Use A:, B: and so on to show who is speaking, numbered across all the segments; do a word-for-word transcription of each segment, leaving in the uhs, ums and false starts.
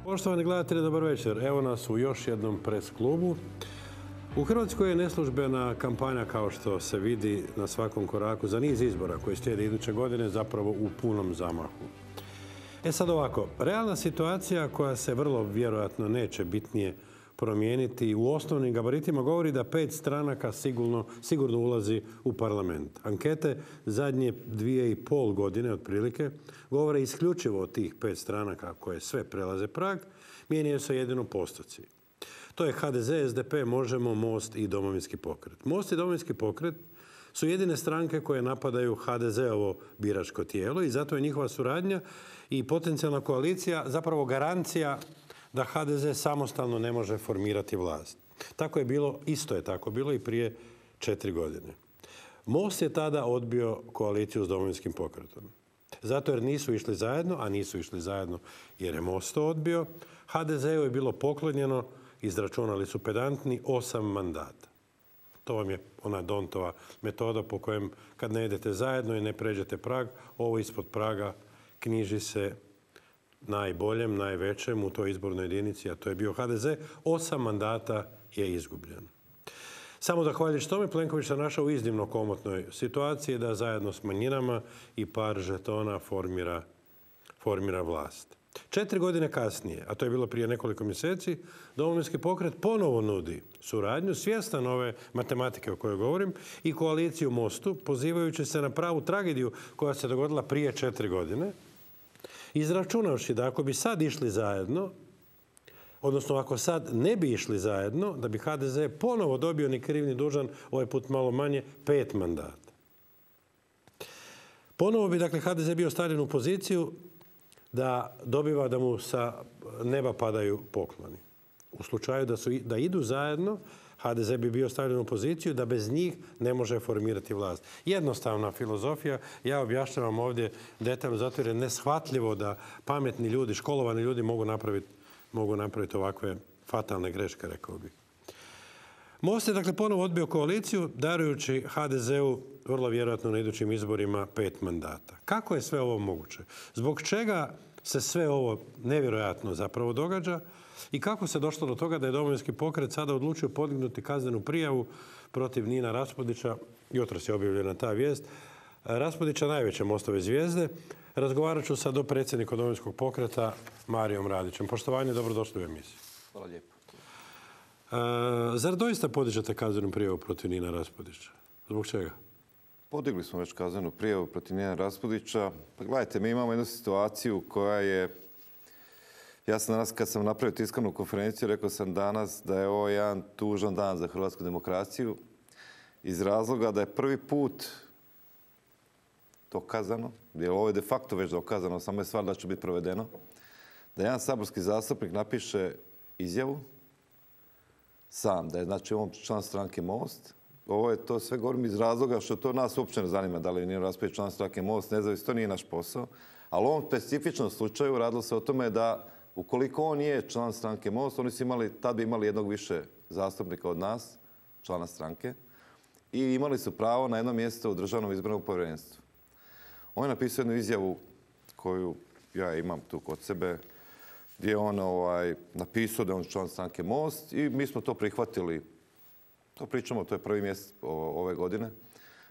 A: Poštovani gledatelji, dobar večer. Evo nas u još jednom pres klubu. U Hrvatskoj je neslužbena kampanja, kao što se vidi na svakom koraku, za niz izbora koji slijede iduće godine, zapravo u punom zamahu. E sad ovako, realna situacija koja se vrlo vjerojatno neće bitnije promijeniti u osnovnim gabaritima govori da pet stranaka sigurno, sigurno ulazi u parlament. Ankete zadnje dvije i pol godine otprilike govore isključivo o tih pet stranaka koje sve prelaze prag, mijenjaju se jedino postoci. To je ha de ze, es de pe, Možemo, Most i Domovinski pokret. Most i Domovinski pokret su jedine stranke koje napadaju ha de zeovo biračko tijelo i zato je njihova suradnja i potencijalna koalicija zapravo garancija da ha de ze samostalno ne može formirati vlast. Tako je bilo, isto je tako bilo i prije četiri godine. Most je tada odbio koaliciju s Domovinskim pokretom. Zato jer nisu išli zajedno, a nisu išli zajedno jer je Most to odbio. ha de zeu je bilo poklonjeno, izračunali su pedantni, osam mandata. To vam je ona Dontova metoda po kojem kad ne idete zajedno i ne pređete prag, ovo ispod praga knjiži se najboljem, najvećem u toj izbornoj jedinici, a to je bio ha de ze, osam mandata je izgubljeno. Samo zahvaljujući tome Plenković se našao u iznimno komotnoj situaciji da zajedno s manjinama i par žetona formira, formira vlast. Četiri godine kasnije, a to je bilo prije nekoliko mjeseci, Domovinski pokret ponovo nudi suradnju, svjestan ove matematike o kojoj govorim, i koaliciju Mostu, pozivajući se na pravu tragediju koja se dogodila prije četiri godine, izračunavši da ako bi sad išli zajedno, odnosno ako sad ne bi išli zajedno, da bi ha de ze ponovo dobio ni kriv ni dužan, ovaj put malo manje, pet mandata. Ponovo bi, dakle, ha de ze bio stavljen u poziciju da dobiva da mu sa neba padaju pokloni. U slučaju da, su, da idu zajedno, ha de ze bi bio stavljen u poziciju da bez njih ne može formirati vlast. Jednostavna filozofija. Ja objašnjavam ovdje detaljno zato jer je neshvatljivo da pametni ljudi, školovani ljudi mogu napraviti, mogu napraviti ovakve fatalne greške, rekao bih. Most je dakle ponovo odbio koaliciju, darujući ha de zeu vrlo vjerojatno na idućim izborima pet mandata. Kako je sve ovo moguće? Zbog čega se sve ovo nevjerojatno zapravo događa i kako se došlo do toga da je Domovinski pokret sada odlučio podignuti kaznenu prijavu protiv Nina Raspudića? Jutros je objavljena ta vijest. Raspudića, najveće Mostove zvijezde. Razgovarat ću sa dopredsjednikom Domovinskog pokreta Marijom Radićem. Poštovanje, dobrodošli u emisiju.
B: Hvala lijepo.
A: E, zar doista podižete kaznenu prijavu protiv Nina Raspudića? Zbog čega?
B: Podigli smo već kaznenu prijavu protiv Nina Raspudića. Pa gledajte, mi imamo jednu situaciju koja je... Ja sam danas, kad sam napravio tiskovnu konferenciju, rekao sam danas da je ovo jedan tužan dan za hrvatsku demokraciju iz razloga da je prvi put dokazano, jer ovo je de facto već dokazano, samo je stvar da će biti provedeno, da jedan saborski zastupnik napiše izjavu sam, da je znači on član stranke Most. Ovo je to sve govorim iz razloga što to nas uopće ne zanima da li je Nino Raspudić član stranke Most, nezavisno, to nije naš posao. Ali u ovom specifičnom slučaju radilo se o tome da ukoliko on je član stranke Most, oni su imali, tad bi imali jednog više zastupnika od nas, člana stranke, i imali su pravo na jedno mjesto u Državnom izbornom povjerenstvu. On je napisao jednu izjavu koju ja imam tu kod sebe, gdje je on ovaj, napisao da je on član stranke Most i mi smo to prihvatili. To pričamo, to je prvi mjesec ove godine.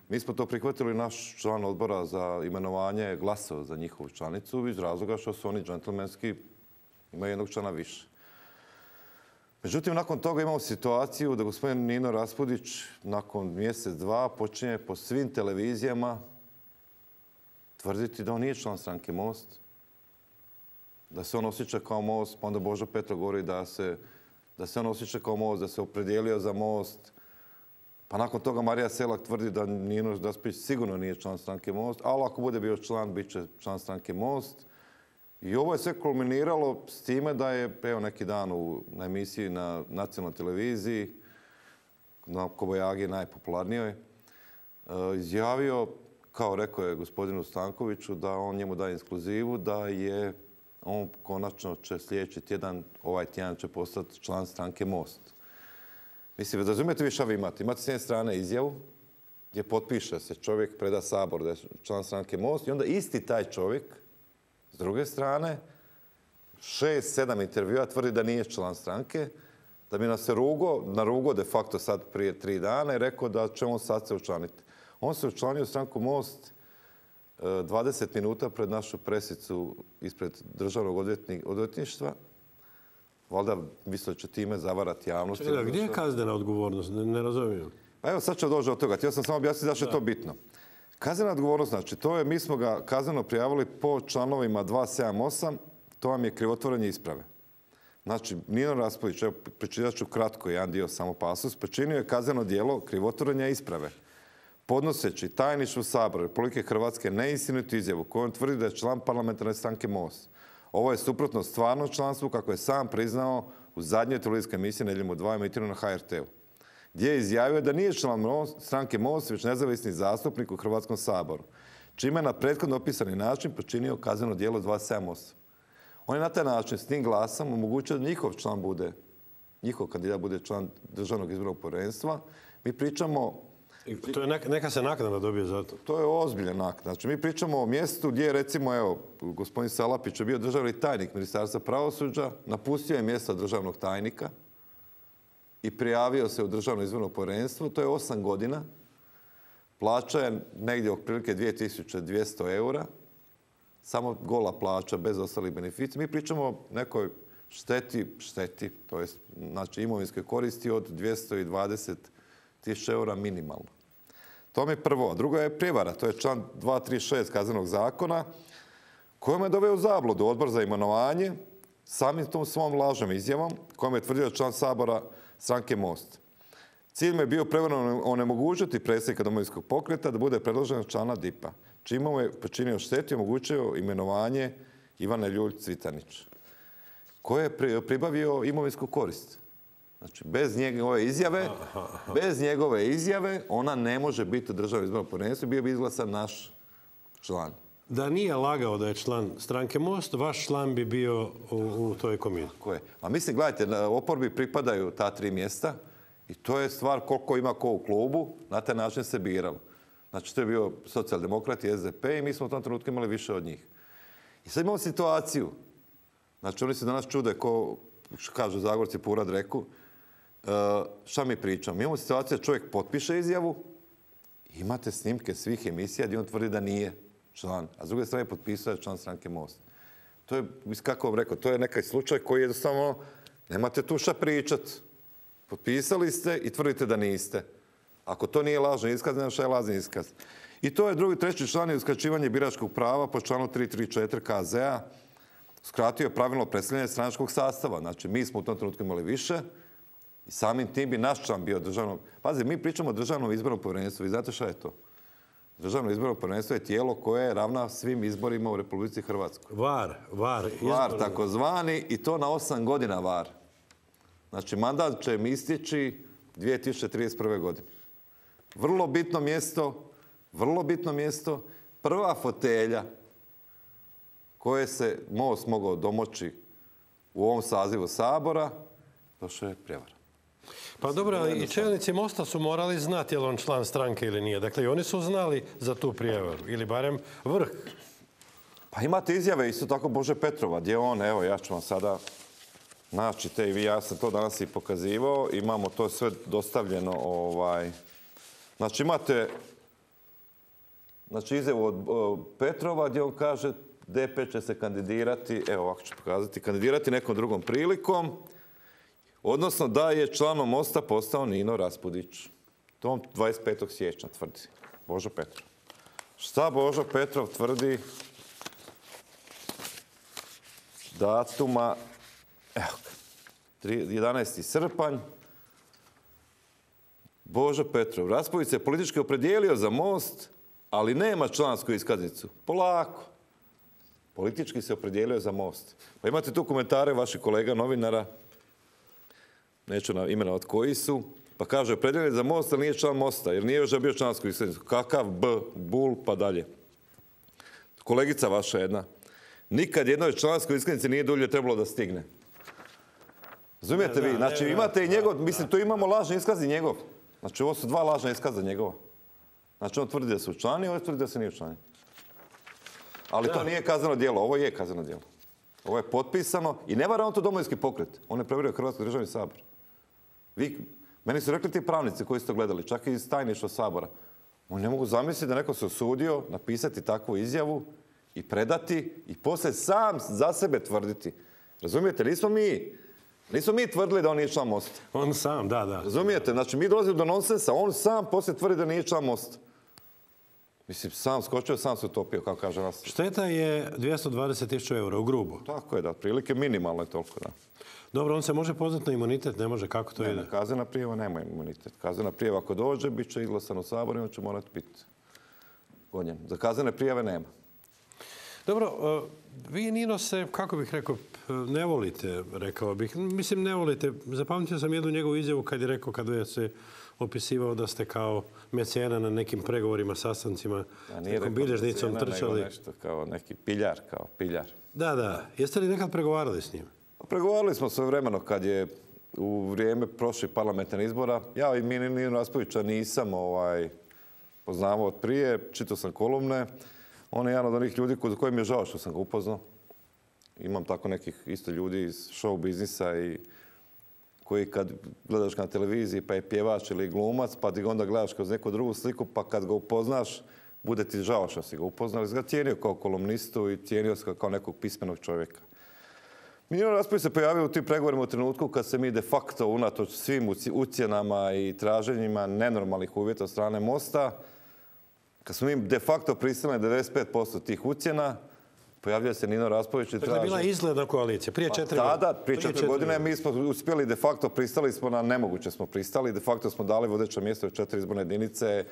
B: Mi smo to prihvatili, naš član odbora za imenovanje glasao za njihovu članicu iz razloga što su oni džentlmenski, imaju jednog člana više. Međutim, nakon toga imamo situaciju da gospodin Nino Raspudić nakon mjesec, dva počinje po svim televizijama tvrditi da on nije član stranke Most, da se on osjeća kao Most, pa onda Božo Petrov govori da se, da se on osjeća kao Most, da se opredijelio za Most. Pa nakon toga Marija Selak tvrdi da Nino Raspudić sigurno nije član stranke Most, ali ako bude bio član, bit će član stranke Most. I ovo je sve kulminiralo s time da je, evo neki dan u, na emisiji na nacionalnoj televiziji, na Kobajagi najpopularnijoj, izjavio, kao rekao je gospodinu Stankoviću, da on njemu daje ekskluzivu, da je on konačno će sljedeći tjedan, ovaj tjedan će postati član stranke Most. Mislim, razumijete vi šta vi imate? Imate s jedne strane izjavu gdje potpiše se čovjek, preda Sabor da je član stranke Most i onda isti taj čovjek s druge strane šest, sedam intervjua tvrdi da nije član stranke, da bi nas se rugo, narugo de facto sad prije tri dana i rekao da će on sad se učlaniti. On se učlanio u stranku Most dvadeset minuta pred našu presicu ispred državnog odvjetništva. Valjda misle će time zavarati javnost.
A: Čekaj, gdje je kaznena odgovornost? Ne, ne razumijem.
B: Pa evo, sad ću doći od toga. Htio sam samo objasniti zašto je to bitno. Kaznena odgovornost, znači, to je, mi smo ga kazneno prijavili po članovima dva sedam osam, to vam je krivotvorenje isprave. Znači, Nino Raspudić, evo, pročitat ću kratko jedan dio samo pasus, počinio je kazneno djelo krivotvorenja isprave, podnoseći tajništvu Sabora Republike Hrvatske neistinitu izjavu kojom tvrdi da je član parlamentarne stranke Most. Ovo je suprotno stvarnom članstvu kako je sam priznao u zadnjoj televizijskoj emisiji Nedjeljom u dva emitirano na ha er te u, gdje je izjavio da nije član stranke Most, već nezavisni zastupnik u Hrvatskom saboru, čime je na prethodno opisani način počinio kazneno djelo dva sedam osam. On je na taj način s tim glasom omogućio da njihov član bude, njihov kandidat bude član Državnog izbornog povjerenstva. Mi pričamo...
A: To je neka, neka se naknada dobije za to.
B: To je ozbiljan naknada. Znači, mi pričamo o mjestu gdje, recimo, evo, gospodin Salapić je bio državni tajnik Ministarstva pravosuđa, napustio je mjesto državnog tajnika i prijavio se u Državno izborno povjerenstvo. To je osam godina. Plaća je negdje otprilike dvije tisuće dvjesto eura. Samo gola plaća, bez ostalih beneficija. Mi pričamo o nekoj šteti, šteti, to je znači imovinskoj koristi od dvjesto dvadeset tisuća eura minimalno. To mi je prvo. Drugo je prijevara. To je član dvjesto trideset šest Kaznenog zakona kojom je doveo u zabludu Odbor za imenovanje samim tom svom lažnom izjavom kojom je tvrdio član Sabora stranke Most. Cilj mu je bio prevarno onemogućiti predsjednika Domovinskog pokreta da bude predložen člana D I P-a, čime mu je počinio štetu i omogućio imenovanje Ivane Ljulj-Cvitanić, koji je pribavio imovinsku korist. Znači, bez njegove izjave, bez njegove izjave, ona ne može biti u Državnom izbornom povjerenstvu, bio bi izglasan naš član.
A: Da nije lagao da je član stranke Most, vaš član bi bio u, u toj komisiji.
B: Tako je. A mislim, gledajte, na oporbi pripadaju ta tri mjesta i to je stvar koliko ima ko u klubu, na taj način se biralo. Znači, to je bio socijaldemokrat i es de pe i mi smo u tom trenutku imali više od njih. I sad imamo situaciju, znači oni se danas čude, ko kažu Zagorci po urad reku, Uh, šta mi pričamo? Mi imamo situaciju da čovjek potpiše izjavu, imate snimke svih emisija gdje on tvrdi da nije član, a s druge strane potpisao je član stranke Most. To je, kako vam rekao, to je neki slučaj koji je jednostavno, nemate tu šta pričat. Potpisali ste i tvrdite da niste. Ako to nije lažni iskaz, nema šta je lažni iskaz. I to je drugi, treći član je uskraćivanje biračkog prava po članu tri trideset četiri ka ze a. Skratio je pravilno predstavljanje stranačkog sastava. Znači, mi smo u tom trenutku imali više, i samim tim bi naš član bio državno... Pazi, mi pričamo o Državnom izbornom povjerenstvu. Vi znate šta je to? Državno izborno povjerenstvo je tijelo koje ravna svim izborima u Republici Hrvatskoj.
A: Var, var.
B: Var, takozvani, i to na osam godina var. Znači, mandat će mi istići dvije tisuće trideset prve. godine. Vrlo bitno mjesto, vrlo bitno mjesto, prva fotelja koje se Most mogao domoći u ovom sazivu Sabora, došao je prijevara.
A: Pa dobro, ali i čelnici Mosta su morali znati je li on član stranke ili nije. Dakle, i oni su znali za tu prijevaru. Ili barem vrh.
B: Pa imate izjave isto tako Bože Petrova, gdje on, evo, ja ću vam sada naći te i vi, ja sam to danas i pokazivao. Imamo to sve dostavljeno. Ovaj. Znači, imate znači, izjavu od Petrova gdje on kaže de pe će se kandidirati, evo ovako ću pokazati, kandidirati nekom drugom prilikom. Odnosno da je članom Mosta postao Nino Raspudić. To dvadeset petog siječnja tvrdi Božo Petrov. Šta Božo Petrov tvrdi datuma, evo ga, jedanaesti srpanj. Božo Petrov. Raspudić se politički opredijelio za Most, ali nema člansku iskaznicu. Polako. Politički se opredijelio za Most. Pa imate tu komentare vaših kolega novinara, neću imenovati koji su, pa kaže, opredijeljen za Most, ali nije član Mosta, jer nije još bio člansku iskaznicu. Kakav B, bul, pa dalje. Kolegica vaša jedna. Nikad jednoj članskoj iskaznici nije dulje trebalo da stigne. Razumijete vi? Znači, imate i njegov, mislim, tu imamo lažni iskaz i njegov. Znači, ovo su dva lažna iskaza njegova. Znači, on tvrdi da su učlani, ovo tvrdi da se nije učlani. Ali to nije kazneno djelo, ovo je kazneno djelo. Ovo je potpisano i ne vara on to Domovinski pokret. On je prevario Hrvatski državni sabor. Vi, meni su rekli ti pravnici koji ste to gledali, čak i iz tajništva sabora. Oni ne mogu zamisliti da neko se osudio napisati takvu izjavu i predati i poslije sam za sebe tvrditi. Razumijete? Nismo mi, nismo mi tvrdili da on nije član Mosta.
A: On sam, da, da.
B: Razumijete? Znači, mi dolazimo do nonsensa, on sam poslije tvrdi da nije član Mosta. Mislim, sam skočio, sam se utopio, kako kaže nas.
A: Šteta je dvjesto dvadeset tisuća eura, u grubo.
B: Tako je, da, otprilike minimalno je toliko, da.
A: Dobro, on se može pozvati na imunitet, ne može, kako to
B: Ne,
A: ide?
B: ne, kaznena prijava nema imunitet. Kaznena prijava ako dođe, bit će izglasan u Saboru i on će morati biti gonjen. Za kaznene prijave nema.
A: Dobro, uh, vi Nino se, kako bih rekao, ne volite, rekao bih. Mislim, ne volite. Zapamtio sam jednu njegovu izjavu kad je rekao, kad je se opisivao da ste kao mecena na nekim pregovorima, sastancima, nekom bilježnicom trčali.
B: Nešto kao neki piljar, kao piljar.
A: Da, da. Jeste li nekad pregovarali s njim?
B: Pregovarali smo svoje vremeno kad je u vrijeme prošlih parlamentarnih izbora. Ja i Nino Raspudića nisam ovaj, poznavao od prije, čitao sam kolumne. On je jedan od onih ljudi kod kojim je žao što sam ga upoznao. Imam tako nekih isto ljudi iz show biznisa i koji kad gledaš ga na televiziji pa je pjevač ili glumac, pa ti ga onda gledaš kroz neku drugu sliku, pa kad ga upoznaš, bude ti žao što si ga upoznao. Ali si ga cijenio kao kolumnistu i cijenio si ga kao nekog pismenog čovjeka. Nino Raspudić se pojavio u tim pregovorima u trenutku kad se mi de facto unatoč svim ucjenama i traženjima nenormalnih uvjeta od strane Mosta, kad smo mi de facto pristali na devedeset pet posto tih ucjena, pojavljuje se Nino Raspudić i traži...
A: Dakle, bila izgledna koalicija, prije četiri godine.
B: Tada, prije četiri godine, mi smo uspjeli de facto, pristali smo na nemoguće smo pristali, de facto smo dali vodeća mjesta u četiri izborne jedinice.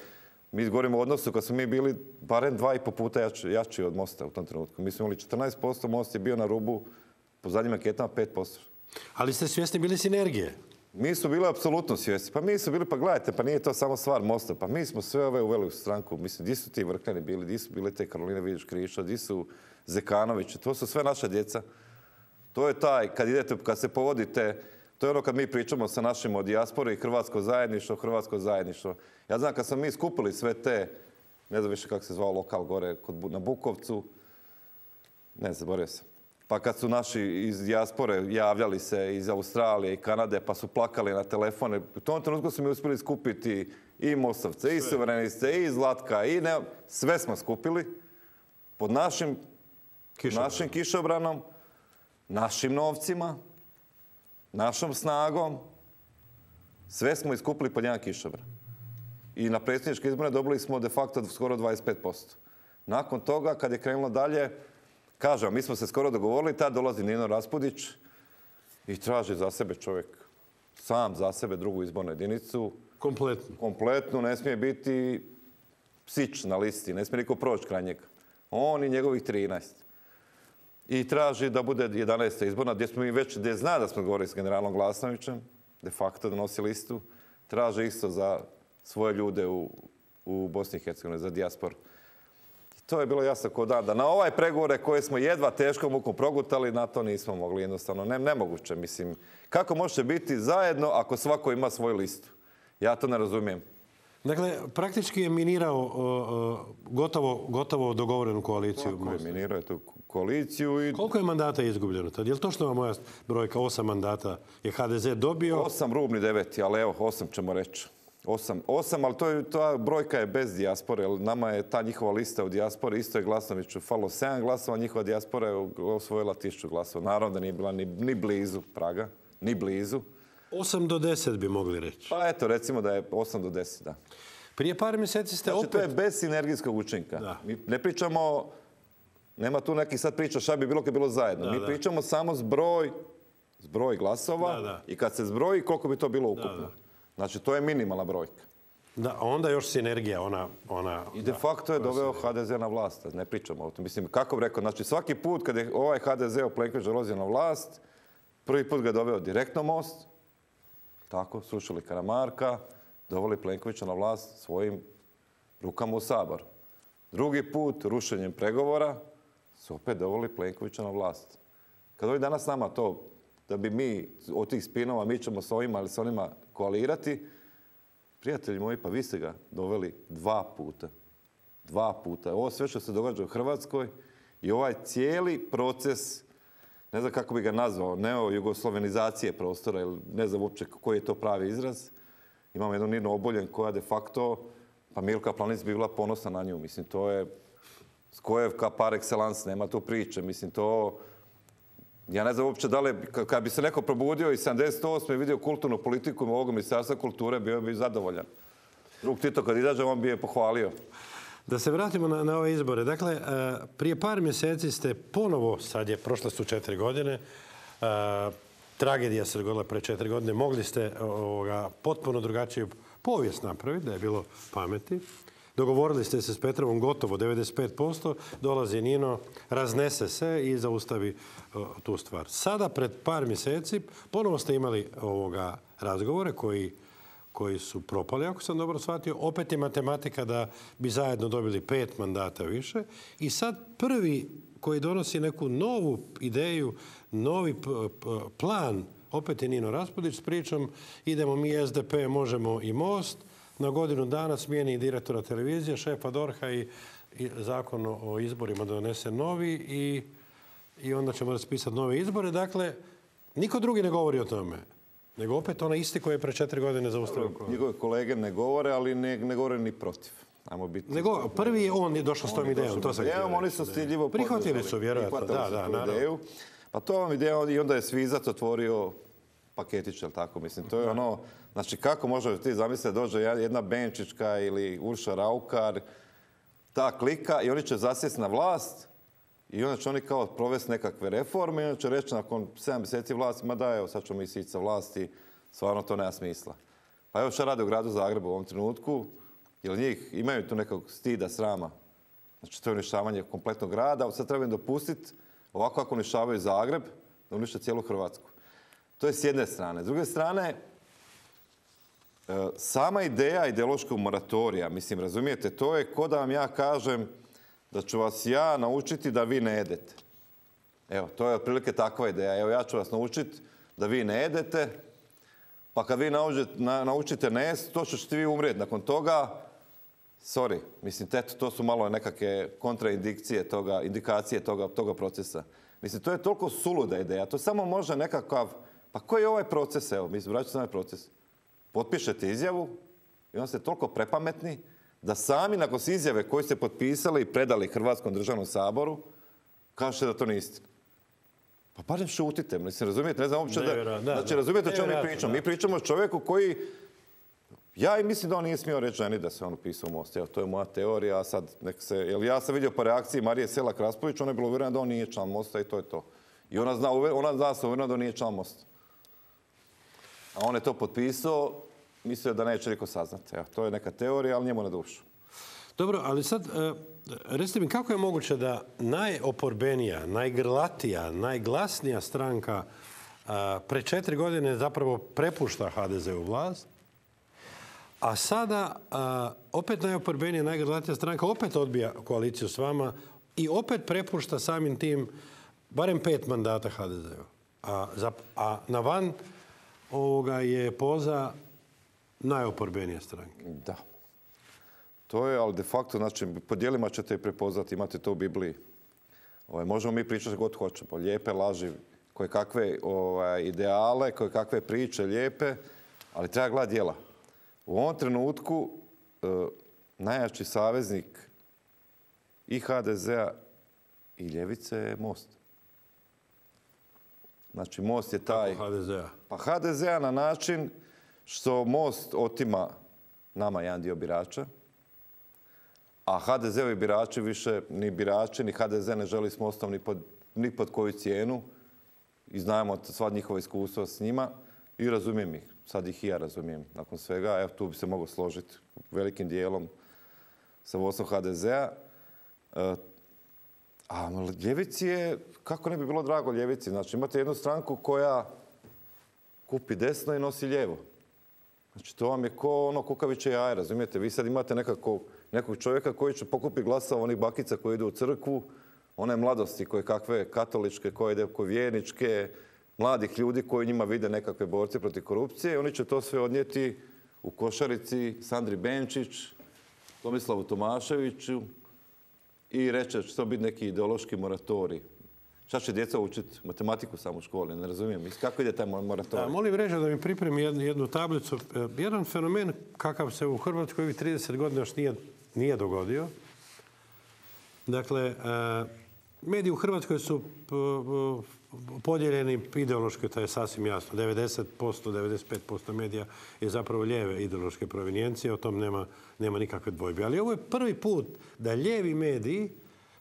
B: Mi govorimo o odnosu kad smo mi bili barem dva i po puta jači, jači od Mosta u tom trenutku. Mi smo imali četrnaest posto, Most je bio na rubu, po zadnjim anketama pet posto.
A: Ali ste svjesni bili sinergije?
B: Mi smo bili apsolutno svjesni. Pa mi smo bili, pa gledajte, pa nije to samo stvar Mosta. Pa mi smo sve ove uveli u stranku. Mislim, di su ti Vrkljani bili, di su bile te Karoline Vidić Krišto, di su Zekanović. To su sve naša djeca. To je taj, kad idete, kad se povodite, to je ono kad mi pričamo sa našim o dijaspori i hrvatsko zajedništvo, hrvatsko zajedništvo. Ja znam kad smo mi skupili sve te, ne znam više kako se zvao lokal gore kod, na Bukovcu, ne zaboravio sam. Pa kad su naši iz dijaspore javljali se iz Australije i Kanade, pa su plakali na telefone, u tom trenutku su mi uspjeli skupiti i Mostovce, i suvereniste, i Zlatka, i ne, sve smo skupili pod našim,
A: Kišobranom.
B: našim kišobranom, našim novcima, našom snagom. Sve smo iskupili pod jedan kišobran. I na predsjedničke izbore dobili smo de facto skoro dvadeset pet posto. Nakon toga, kad je krenulo dalje, kažem, mi smo se skoro dogovorili, tad dolazi Nino Raspudić i traži za sebe čovjek, sam za sebe drugu izbornu jedinicu.
A: Kompletno.
B: Kompletnu, ne smije biti psić na listi, ne smije niko proći kraj njega. On i njegovih trinaest. I traži da bude jedanaesta izborna, gdje smo mi već, gdje zna da smo govorili s generalom Glasnovićem, de facto da nosi listu, traže isto za svoje ljude u, u Bosni i Hercegovini, za dijasporu. To je bilo jasno ko dan, da na ovaj pregovore koje smo jedva teškom mukom progutali, na to nismo mogli jednostavno. Ne, nemoguće, mislim. Kako možete biti zajedno ako svako ima svoju listu? Ja to ne razumijem.
A: Dakle, praktički je minirao uh, gotovo, gotovo dogovorenu koaliciju.
B: Tako je, minirao je tu koaliciju. I...
A: Koliko je mandata izgubljeno tad? Je li točno moja brojka? Osam mandata je ha de ze dobio?
B: Osam, rubni deveti, ali evo, osam ćemo reći. Osam, osam, ali to je, ta brojka je bez dijaspore, jer nama je ta njihova lista u dijaspori, isto je Glasnoviću falo sedam glasova, njihova dijaspora je osvojila tisuću glasova. Naravno da nije bila ni, ni blizu praga, ni blizu.
A: osam do deset bi mogli reći.
B: Pa eto, recimo da je osam do deset, da.
A: Prije par mjeseci ste
B: znači,
A: opet...
B: to je bez sinergijskog učinka.
A: Da.
B: Mi ne pričamo, nema tu neki sad priča šta bi bilo kad je bilo zajedno.
A: Da,
B: Mi
A: da.
B: pričamo samo zbroj, zbroj glasova
A: Da, da.
B: i kad se zbroji koliko bi to bilo ukupno.
A: Da, da.
B: Znači, to je minimalna brojka.
A: Da, onda još sinergija, ona... ona
B: I de facto je doveo ha de ze na vlast. Ne pričamo o tom. Mislim, kako bi rekao, znači svaki put kad je ovaj ha de ze Plenković dolazio na vlast, prvi put ga je doveo direktno Most, tako, srušili Karamarka, doveli Plenkovića na vlast svojim rukama u Sabor. Drugi put, rušenjem pregovora, su opet doveli Plenkovića na vlast. Kad ovi danas nama to, da bi mi od tih spinova, mi ćemo s ovima ili s onima koalirati, prijatelji moji, pa vi ste ga doveli dva puta. Dva puta. Ovo sve što se događa u Hrvatskoj i ovaj cijeli proces, ne znam kako bi ga nazvao, neo-jugoslovenizacije prostora, ili ne znam uopće koji je to pravi izraz. Imamo jednu Ninu Obuljen koja de facto, pa Milka Planinc bi bila ponosna na nju. Mislim, to je Skojevka par excellence, nema tu priče. Mislim, to... Ja ne znam uopće da li, kad bi se neko probudio i sedamdeset osme i vidio kulturnu politiku ovog ministarstva kulture, bio bi zadovoljan. Drug Tito kad izađe, on bi je pohvalio.
A: Da se vratimo na, na ove izbore. Dakle, prije par mjeseci ste ponovo, sad je, prošle su četiri godine, tragedija se dogodila pre četiri godine, mogli ste ovoga, potpuno drugačiju povijest napraviti, da je bilo pameti. Dogovorili ste se s Petrovom gotovo devedeset pet posto, dolazi Nino, raznese se i zaustavi uh, tu stvar. Sada, pred par mjeseci, ponovo ste imali ovoga razgovore koji, koji su propali, ako sam dobro shvatio. Opet je matematika da bi zajedno dobili pet mandata više. I sad prvi koji donosi neku novu ideju, novi p- p- plan, opet je Nino Raspudić s pričom, idemo mi S D P, možemo i Most, na godinu dana smijeni direktora televizije, šefa D O R H-a i, i zakon o izborima donese novi i, i onda ćemo raspisati nove izbore. Dakle, niko drugi ne govori o tome, nego opet ona isti koji je pre četiri godine zaustavio.
B: Njegove kolege ne govore, ali ne, ne govore ni protiv. Ajmo biti...
A: Nego, prvi je on je došao s tom idejom. To sam
B: idejom, oni su stiljivo
A: prihvatili su, vjerojatno. Da, da, naravno.
B: Ideju. Pa to vam ideja i onda je Svizac otvorio paketić, ali tako mislim. To je ono, znači kako možeš ti zamisliti da dođe jedna Benčićka ili Urša Raukar, ta klika i oni će zasjesti na vlast i onda će oni kao provesti nekakve reforme i onda će reći nakon sedam mjeseci vlasti, ma da evo sad ćemo mi sići sa vlasti, stvarno to nema smisla. Pa evo što rade u gradu Zagrebu u ovom trenutku, jer njih imaju tu nekog stida, srama. Znači to je uništavanje kompletnog grada, sad treba im dopustiti ovako kako uništavaju Zagreb, da unište cijelu Hrvatsku. To je s jedne strane. S druge strane, sama ideja ideološkog moratorija, mislim, razumijete, to je ko da vam ja kažem da ću vas ja naučiti da vi ne jedete. Evo, to je otprilike takva ideja. Evo, ja ću vas naučiti da vi ne jedete, pa kad vi naučite ne jesti, to ćete vi umrijeti. Nakon toga, sorry, mislim, teto, to su malo nekakve kontraindikacije toga, indikacije toga, toga procesa. Mislim, to je toliko suluda ideja. To samo može nekakav... Pa koji je ovaj proces? Evo, mi vraćamo se na ovaj proces. Potpišete izjavu i onda ste toliko prepametni da sami nakon izjave koju ste potpisali i predali Hrvatskom državnom saboru, kažete da to nije istina. Pa barem šutite. Mislim, razumijete? Ne znam uopće da... Znači, razumijete o čemu mi pričamo? Mi pričamo o čovjeku koji... Ja i mislim da on nije smio reći ženi da se on upisao u Most. Evo, to je moja teorija. Sad nek se... Jer ja sam vidio po reakciji Marije Selak-Raspudić, ona je bila uvjerena da on nije član Mosta i to je to. I ona zna, ona zna se uvjerena da on nije član Mosta. A on je to potpisao, mislio da neće niko saznati. Evo, to je neka teorija, ali njemu na dušu.
A: Dobro, ali sad, recite mi, kako je moguće da najoporbenija, najgrlatija, najglasnija stranka pre četiri godine zapravo prepušta H D Z-u vlast, a sada opet najoporbenija, najgrlatija stranka opet odbija koaliciju s vama i opet prepušta samim tim barem pet mandata H D Z-u. A, a na van ovoga je poza najoporbenije stranke.
B: Da. To je, ali de facto, znači, po dijelima ćete i prepoznati, imate to u Bibliji. Ovaj, možemo mi pričati god hoćemo. Lijepe laži, koje kakve ovaj, ideale, koje kakve priče lijepe, ali treba gledati djela. U ovom trenutku eh, najjači saveznik i H D Z-a i ljevice je Most. Znači, Most je taj...
A: Kako H D Z-a?
B: Pa H D Z-a na način što Most otima nama jedan dio birača, a H D Z-ovi birači više ni birači, ni H D Z ne želi s Mostom ni pod, ni pod koju cijenu. I znamo sva njihova iskustva s njima i razumijem ih. Sad ih i ja razumijem nakon svega. Evo, tu bi se mogao složiti velikim dijelom sa vodstvom H D Z-a. E, a ljevici je, kako ne bi bilo drago ljevici? Znači, imate jednu stranku koja kupi desno i nosi lijevo. Znači, to vam je ko ono kukaviće jaje, razumijete? Vi sad imate nekako, nekog čovjeka koji će pokupiti glasova onih bakica koji idu u crkvu, one mladosti koje kakve katoličke, koje ide koje vjerničke, mladih ljudi koji njima vide nekakve borce protiv korupcije i oni će to sve odnijeti u košarici Sandri Benčić, Tomislavu Tomaševiću i reće će to biti neki ideološki moratorij. Šta će djeca učiti? Matematiku samo u školi, ne razumijem. Kako ide taj moratorij?
A: Molim reći da mi pripremi jednu, jednu tablicu. Jedan fenomen kakav se u Hrvatskoj ovih trideset godina još nije, nije dogodio. Dakle, mediji u Hrvatskoj su podijeljeni ideološki, to je sasvim jasno. devedeset posto, devedeset pet posto medija je zapravo lijeve ideološke provenijencije, o tom nema, nema nikakve dvojbe. Ali ovo je prvi put da lijevi mediji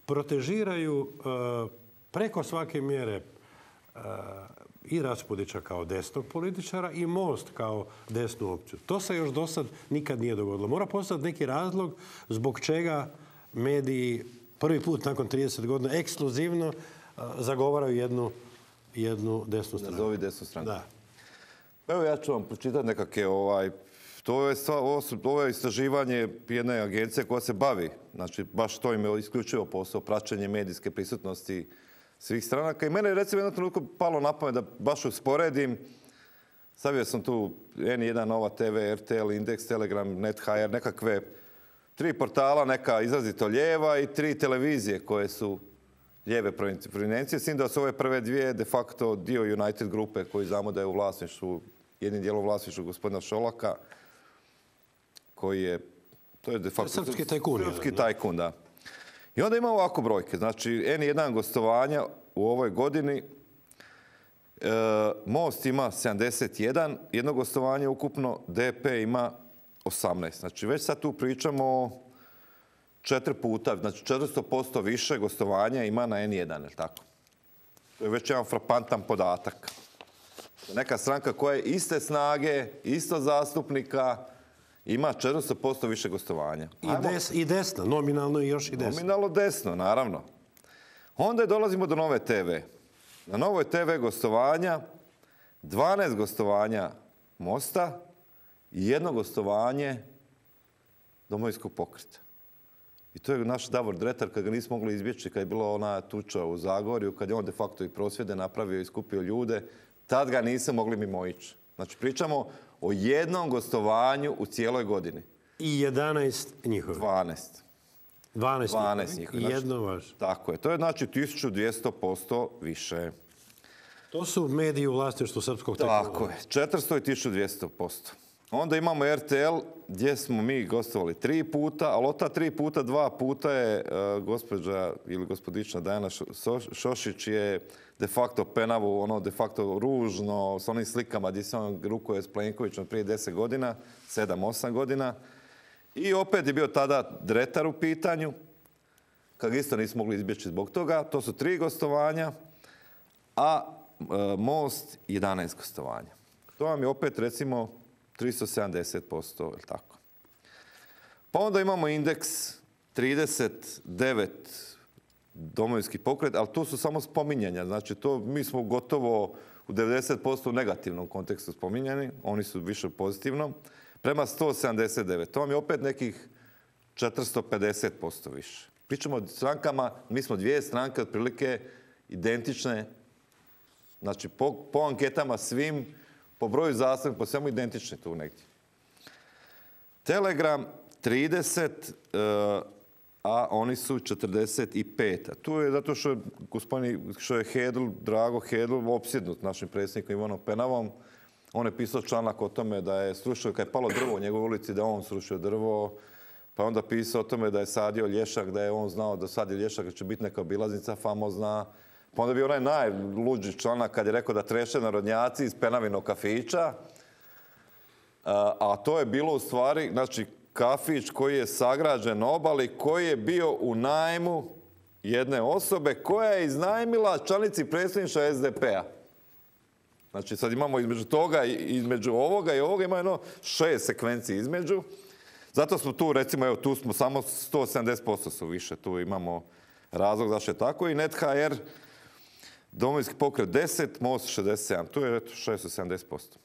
A: protežiraju uh, preko svake mjere uh, i Raspudića kao desnog političara i Most kao desnu opciju. To se još do sad nikad nije dogodilo. Mora postati neki razlog zbog čega mediji prvi put nakon trideset godina ekskluzivno uh, zagovaraju jednu, jednu desnu stranu.
B: Nazovi desnu stranu.
A: Da.
B: Evo ja ću vam pročitati nekakve ovaj... To je, ovo, ovo je istraživanje jedne agencije koja se bavi, znači baš to im je isključivo posao, praćenje medijske prisutnosti svih stranaka. I mene je recimo jednom trenutku palo na pamet da baš usporedim. Stavio sam tu en jedan, Nova te ve, er te el, Indeks, Telegram, Net ha er, nekakve tri portala, neka izrazito lijeva i tri televizije koje su lijeve provenijencije. S tim da su ove prve dvije de facto dio United grupe koji znamo da je u vlasništvu, jednim dijelom vlasništvu gospodina Šolaka, koji je, to je de facto...
A: Srpski tajkun.
B: Srpski tajkun, da. I onda ima ovako brojke. Znači, en jedan gostovanja u ovoj godini. E, Most ima sedamdeset jedan, jedno gostovanje ukupno, de pe ima osamnaest. Znači, već sad tu pričamo četiri puta, znači četiristo posto više gostovanja ima na en jedan, je li tako? To je već jedan frapantan podatak. Neka stranka koja je iste snage, isto zastupnika, ima četiristo posto više gostovanja.
A: I, des, I desno, nominalno i još i desno.
B: Nominalno desno, naravno. Onda dolazimo do Nove te ve. Na Novoj te ve gostovanja, dvanaest gostovanja Mosta i jedno gostovanje Domovinskog pokreta. I to je naš Davor Dretar, kad ga nismo mogli izbjeći, kad je bila ona tuča u Zagorju, kad je on de facto i prosvjede napravio i skupio ljude, tad ga nismo mogli mimo ići. Znači, pričamo o jednom gostovanju u cijeloj godini.
A: I jedanaest njihovih.
B: dvanaest.
A: dvanaest,
B: dvanaest njihovih.
A: I jedno vaš.
B: Tako je. To je znači tisuću dvjesto posto više.
A: To su mediji u vlasništvu srpskog tajkuna.
B: Tako je. četiristo i tisuću dvjesto posto. Onda imamo er te el gdje smo mi gostovali tri puta, ali od ta tri puta, dva puta je uh, gospođa ili gospodična Dajana Šošić je de facto penavu, ono de facto ružno, s onim slikama gdje se on rukuje s Plenkovićem prije deset godina, sedam, osam godina. I opet je bio tada Dretar u pitanju, kad isto nismo mogli izbjeći zbog toga. To su tri gostovanja, a uh, Most jedanaest gostovanja. To vam je opet recimo tristo sedamdeset posto, je tako. Pa onda imamo Indeks trideset devet Domovinski pokret, ali tu su samo spominjanja. Znači, to mi smo gotovo u devedeset posto u negativnom kontekstu spominjani, oni su više pozitivno, prema sto sedamdeset devet. To vam je opet nekih četiristo pedeset posto više. Pričamo o strankama, mi smo dvije stranke otprilike identične, znači po, po anketama svim, po broju zastupnika, po svemu identični tu negdje. Telegram trideset, a oni su četrdeset pet. A tu je zato što je gospodin, što je Hedl, Drago Hedl, opsjednut našim predsjednikom Ivanom Penavom. On je pisao članak o tome da je srušio, kad je palo drvo u njegovoj ulici, da je on srušio drvo. Pa je onda pisao o tome da je sadio lješak, da je on znao da sadi lješak, da će biti neka obilaznica famozna. Pa onda bi onaj najluđi članak kad je rekao da treše narodnjaci iz Penavinog kafića. A, a to je bilo u stvari, znači, kafić koji je sagrađen na obali, koji je bio u najmu jedne osobe koja je iznajmila članici predsjedništva es de pe-a. Znači, sad imamo između toga, između ovoga i ovoga, ima jedno šest sekvenci između. Zato smo tu, recimo, evo, tu smo samo sto sedamdeset posto su više. Tu imamo razlog zašto je tako. I Net ha er, Domovinski pokret deset, Most šezdeset sedam. Tu je šesto sedamdeset posto.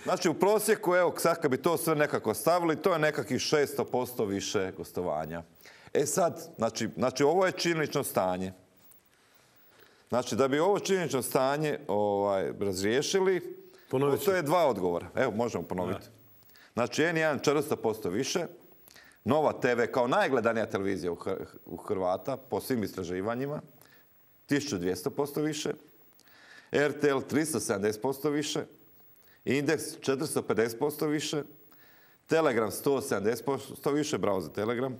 B: Znači, u prosjeku, evo, sad kad bi to sve nekako stavili, to je nekakvih šesto posto više gostovanja. E sad, znači, znači ovo je činjenično stanje. Znači, da bi ovo činjenično stanje ovaj, razriješili, postoje dva odgovora. Evo, možemo ponoviti. Znači, en jedan četiristo posto više, Nova te ve kao najgledanija televizija u Hrvata, po svim istraživanjima, tisuću dvjesto posto više, R T L tristo sedamdeset posto više, Indeks četiristo pedeset posto više, Telegram sto sedamdeset posto više, bravo za Telegram,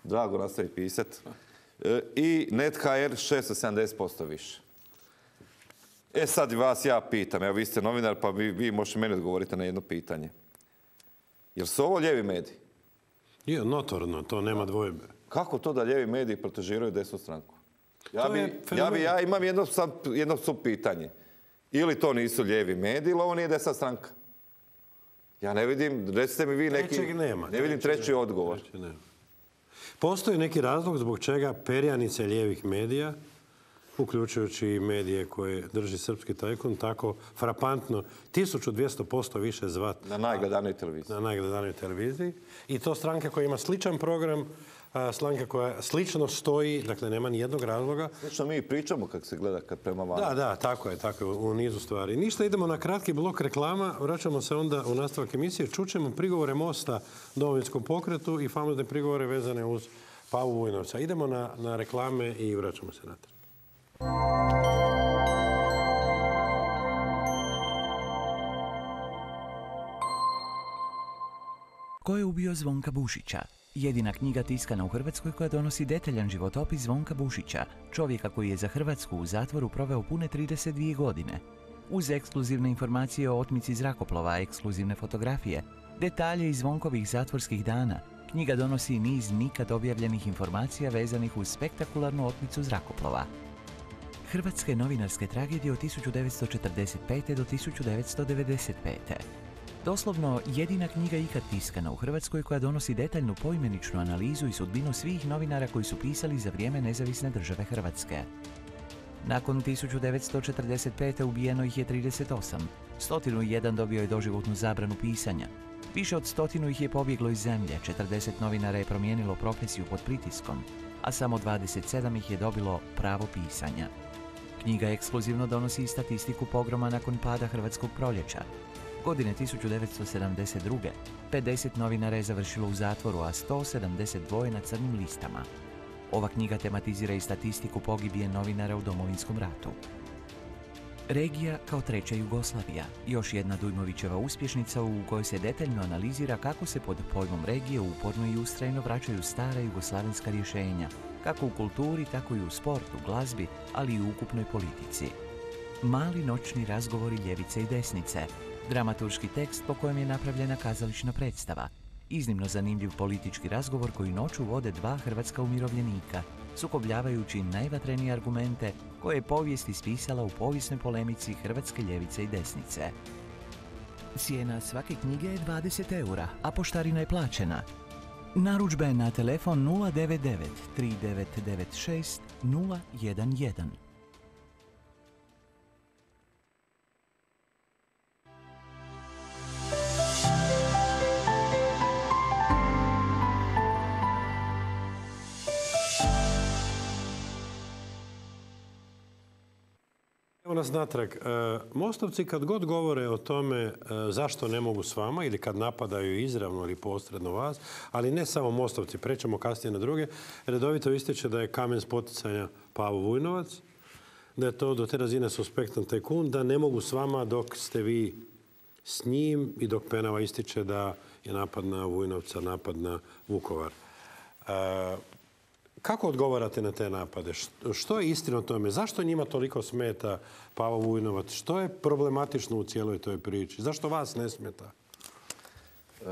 B: drago nastavi pisat, i Net H R šesto sedamdeset posto više. E sad vas ja pitam, evo vi ste novinar pa vi, vi možete meni odgovoriti na jedno pitanje. Jel su ovo lijevi mediji?
A: Je, notorno, to nema dvojbe.
B: Kako to da lijevi mediji protežiraju desnu stranku? Ja, bi,
A: je
B: ja, bi, ja imam jedno, jedno sub pitanje. Ili to nisu lijevi mediji, ili ovo nije desna stranka. Ja ne vidim, recite mi vi neki...
A: Trećeg nema.
B: Ne vidim treći odgovor.
A: Nema. Postoji neki razlog zbog čega perjanice lijevih medija, uključujući i medije koje drži srpski tajkun, tako frapantno tisuću dvjesto posto više zvat.
B: Na najgledanoj televiziji.
A: Na najgledanoj televiziji. I to stranka koja ima sličan program, stranka koja slično stoji, dakle nema ni jednog razloga.
B: Slično mi pričamo kako se gleda kad prema vama.
A: Da, da, tako je, tako je, u nizu stvari. Ništa, idemo na kratki blok reklama, vraćamo se onda u nastavak emisije, čućemo prigovore Mosta Domovinskom pokretu i famozne prigovore vezane uz Pavu Vujnovca. Idemo na, na reklame i vraćamo se natrag.
C: Ko je ubio Zvonka Bušića? Jedina knjiga tiskana u Hrvatskoj koja donosi detaljan životopis Zvonka Bušića, čovjeka koji je za Hrvatsku u zatvoru proveo pune trideset dvije godine. Uz ekskluzivne informacije o otmici zrakoplova, ekskluzivne fotografije, detalje iz Zvonkovih zatvorskih dana, knjiga donosi niz nikad objavljenih informacija vezanih uz spektakularnu otmicu zrakoplova. Hrvatske novinarske tragedije od tisuću devetsto četrdeset pete do tisuću devetsto devedeset pete. Doslovno jedina knjiga ikad tiskana u Hrvatskoj koja donosi detaljnu poimeničnu analizu i sudbinu svih novinara koji su pisali za vrijeme nezavisne države Hrvatske. Nakon tisuću devetsto četrdeset pete ubijeno ih je trideset osam, sto jedan dobio je doživotnu zabranu pisanja. Više od stotinu ih je pobjeglo iz zemlje, četrdeset novinara je promijenilo profesiju pod pritiskom, a samo dvadeset sedam ih je dobilo pravo pisanja. Knjiga ekskluzivno donosi i statistiku pogroma nakon pada Hrvatskog proljeća. Godine tisuću devetsto sedamdeset druge. pedeset novinara je završilo u zatvoru, a sto sedamdeset dva na crnim listama. Ova knjiga tematizira i statistiku pogibije novinara u Domovinskom ratu. Regija kao treća Jugoslavija, još jedna Dujmovićeva uspješnica u kojoj se detaljno analizira kako se pod pojmom regije uporno i ustrajno vraćaju stara jugoslavenska rješenja, kako u kulturi, tako i u sportu, glazbi, ali i u ukupnoj politici. Mali noćni razgovori ljevice i desnice, dramaturški tekst po kojem je napravljena kazališna predstava, iznimno zanimljiv politički razgovor koji noću vode dva hrvatska umirovljenika, sukobljavajući najvatrenije argumente koje je povijest ispisala u povijesnoj polemici hrvatske ljevice i desnice. Cijena svake knjige je dvadeset eura, a poštarina je plaćena. Narudžbe na telefon nula devet devet tri devet devet šest nula jedan jedan.
A: Evo nas natrag. Mostovci kad god govore o tome zašto ne mogu s vama ili kad napadaju izravno ili posredno vas, ali ne samo Mostovci, prećemo kasnije na druge, redovito ističe da je kamen spoticanja Pavo Vujnovac, da je to do te razine suspektan tajkun, da ne mogu s vama dok ste vi s njim i dok Penava ističe da je napad na Vujnovca, napad na Vukovar. Kako odgovarate na te napade? Što je istina o tome? Zašto njima toliko smeta Pavo Vujnovac? Što je problematično u cijeloj toj priči? Zašto vas ne smeta?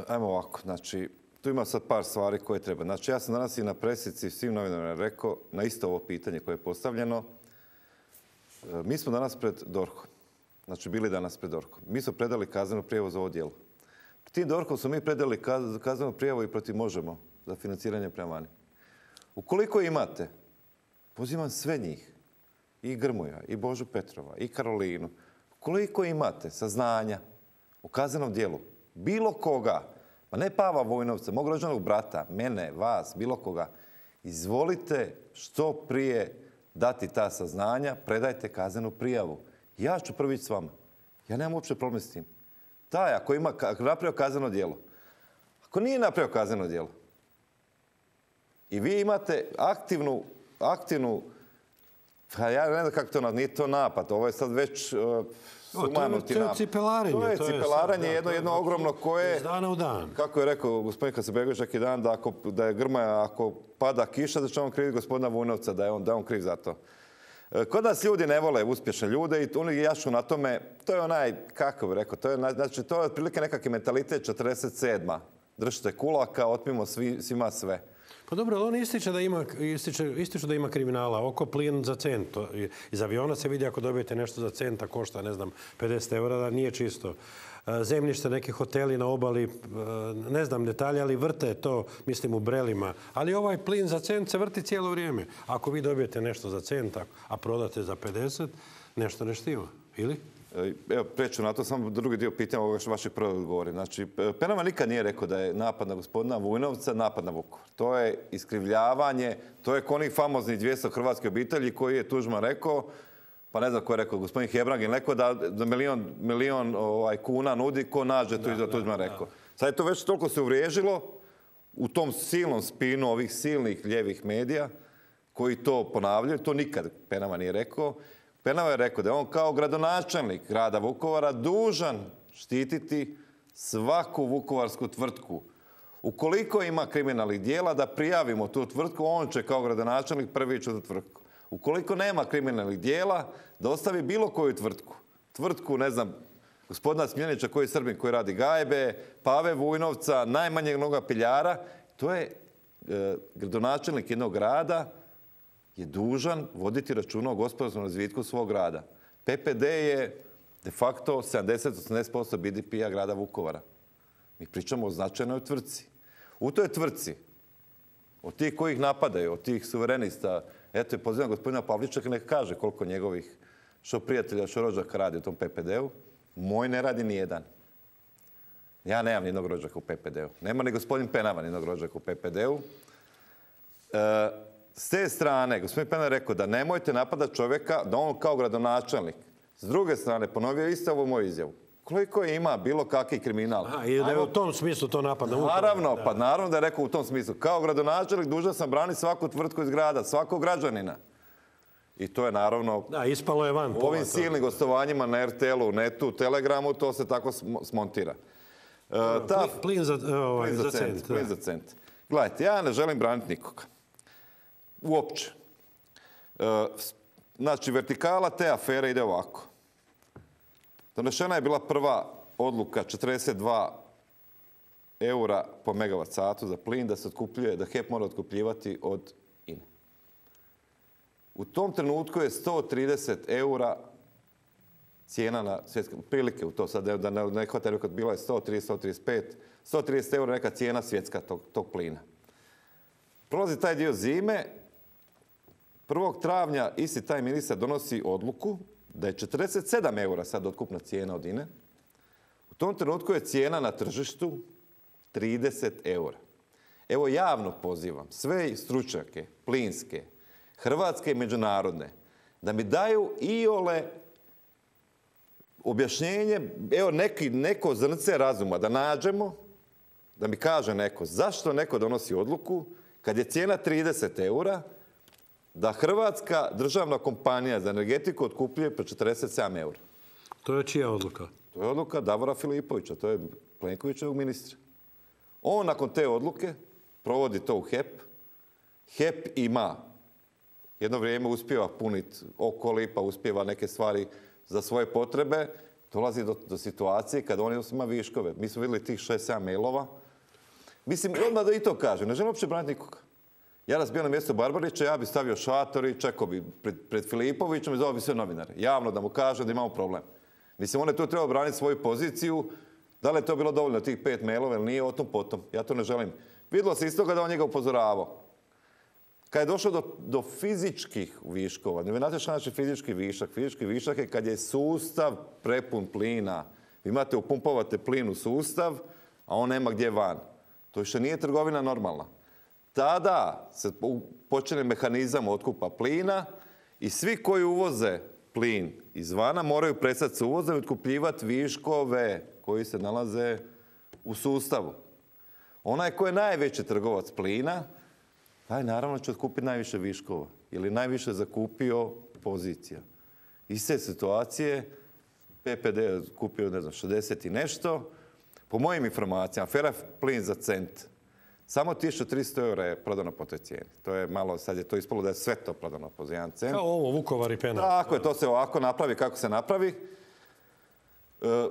B: Ajmo ovako. Znači, tu ima sad par stvari koje treba. Znači, ja sam danas i na presici svim novinarima rekao na isto ovo pitanje koje je postavljeno. Mi smo danas pred dorhom. Znači, bili danas pred dorhom. Mi smo predali kaznenu prijavu za ovo djelo. Tim dorhom smo mi predali kaznenu prijavu i protiv Možemo za financiranje prema vani. Ukoliko imate, pozivam sve njih, i Grmoja, i Božu Petrova, i Karolinu, ukoliko imate saznanja o kaznenom djelu, bilo koga, pa ne Pava Vujnovca, mog rođenog brata, mene, vas, bilo koga, izvolite što prije dati ta saznanja, predajte kaznenu prijavu. Ja ću prvi ići s vama. Ja nemam uopće problem s tim. Taj, ako ima ako napravio kazneno djelo, ako nije napravio kazneno djelo, i vi imate aktivnu, aktivnu Pa ja ne znam kako to, nije to napad, ovo je sad već uh, sumanuti napad.
A: To je cipelarenje.
B: To je cipelaranje jedno, jedno ogromno koje...
A: Iz dana u dan.
B: Kako je rekao gospodin Hasanbegović neki dan, da, ako, da je Grmoja, ako pada kiša, da će on kriviti gospodina Vujnovca, da je on, da je on kriv za to. Kod nas ljudi ne vole uspješne ljude i oni jašu na tome, to je onaj, kako bih rekao, to je, znači, to je otprilike nekakvi mentalitet četrdeset sedma. Držite kulaka, otmimo svi, svima sve.
A: Pa dobro, ali on ističe da ima, ističe, ističe da ima kriminala. Oko plin za cent. Iz aviona se vidi ako dobijete nešto za centa, košta, ne znam, pedeset eura, da nije čisto. Zemljište, neki hoteli na obali, ne znam detalje, ali vrte to, mislim, u brelima. Ali ovaj plin za cent se vrti cijelo vrijeme. Ako vi dobijete nešto za cent, a prodate za pedeset, nešto ne štima. Ili?
B: Evo, preću na to, samo drugi dio pitanja ovoga što vaših prvi odgovori. Znači, Penava nikad nije rekao da je napad na gospodina Vujnovca napad na Vukovar. To je iskrivljavanje, to je onih famoznih dvjesto hrvatskih obitelji koji je Tuđman rekao, pa ne znam ko je rekao, gospodin Hebrangin rekao da, da milion, milion ovaj, kuna nudi, ko nađe to iza Tuđman rekao. Sad je to već toliko se uvriježilo u tom silnom spinu ovih silnih ljevih medija koji to ponavljaju, to nikad Penava nije rekao. Penava je rekao da je on kao gradonačelnik grada Vukovara dužan štititi svaku vukovarsku tvrtku. Ukoliko ima kriminalnih dijela, da prijavimo tu tvrtku, on će kao gradonačelnik prvi ići u tu tvrtku. Ukoliko nema kriminalnih dijela, da ostavi bilo koju tvrtku. Tvrtku, ne znam, gospodina Smiljanića koji je Srbin, koji radi gajbe, Pave Vujnovca, najmanjeg noga piljara. To je e, gradonačelnik jednog grada je dužan voditi računa o gospodarskom razvitku svog grada. P P D je de facto sedamdeset do osamdeset posto B D P-a grada Vukovara. Mi pričamo o značajnoj tvrtci. U toj tvrtci, od tih kojih napadaju, od tih suverenista, eto je pozivam gospodina Pavličaka neka kaže koliko njegovih što prijatelja, što rođaka radi u tom P P D-u. Moj ne radi ni jedan. Ja nemam nijednog rođaka u P P D-u. Nema ni gospodin Penava nijednog rođaka u P P D-u. E, S te strane, gospodin Penava je rekao da nemojte napadati čovjeka, da on kao gradonačelnik. S druge strane, ponovio isto ovu moju izjavu. Koliko ima bilo kakvi kriminal?
A: Aha, i da je u tom smislu to napad na Vukovar.
B: Naravno, pa naravno da je rekao u tom smislu. Kao gradonačelnik dužan sam braniti svaku tvrtku iz grada, svakog građanina. I to je naravno...
A: Da, ispalo je van.
B: U ovim silnim gostovanjima na R T L-u, Netu, Telegramu, to se tako smontira.
A: Uh, ta, plin za, ovaj,
B: plin za, za cent. cent plin za cent. Gledajte, ja ne želim braniti nikoga. Uopće. Uh, znači, vertikala te afere ide ovako. Donešena je bila prva odluka četrdeset dva eura po megavat satu za plin da se otkupljuje, da H E P mora otkupljivati od I N E. U tom trenutku je sto trideset eura cijena na svjetske prilike u to sad da ne, ne hvata kad bila je sto trideset, sto trideset pet, sto trideset eura neka cijena svjetska tog, tog plina. Prolazi taj dio zime, prvog travnja isti taj ministar donosi odluku da je četrdeset sedam eura sad otkupna cijena od I N E. U tom trenutku je cijena na tržištu trideset eura. Evo javno pozivam sve stručnjake, plinske, hrvatske i međunarodne, da mi daju iole objašnjenje, evo neki, neko zrnce razuma, da nađemo, da mi kaže neko zašto neko donosi odluku kad je cijena trideset eura, da hrvatska državna kompanija za energetiku otkupljuje po četrdeset sedam eura.
A: To je čija odluka?
B: To je odluka Davora Filipovića, to je Plenkovićevog ministra. On nakon te odluke provodi to u H E P. H E P ima jedno vrijeme uspijeva puniti Okoli, pa uspijeva neke stvari za svoje potrebe. Dolazi do, do situacije kad on ima viškove. Mi smo vidjeli tih šest sedam mailova. Mislim, odmah da i to kažem, ne želim uopće braniti nikoga. Ja da sam bio na mjestu Barbarića, ja bi stavio šator i čekao bi pred, pred Filipovićem i zvao bi sve novinare. Javno da mu kaže da imamo problem. Mislim, on je tu trebao braniti svoju poziciju. Da li je to bilo dovoljno tih pet mailova ili nije, o tom potom. Ja to ne želim. Vidjelo se iz toga da on njega upozoravao. Kad je došlo do, do fizičkih viškova, ne znate što znači fizički višak. Fizički višak je kad je sustav prepun plina. Vi imate, upumpovate plin u sustav, a on nema gdje van. To više nije trgovina normalna. Tada se počne mehanizam otkupa plina i svi koji uvoze plin izvana moraju prestati se uvozom i otkupljivati viškove koji se nalaze u sustavu. Onaj koji je najveći trgovac plina, taj naravno će otkupiti najviše viškova ili najviše zakupio pozicija. Iz te situacije P P D je kupio, ne znam, šezdeset i nešto. Po mojim informacijama, afera plin za cent. Samo tisuću tristo eura je prodano po toj cijeni. To je malo, sad je to ispalo da je sve to prodano po jedan cent.
A: Kao ovo, Vukovar i Penal.
B: Tako je, to se ovako napravi kako se napravi.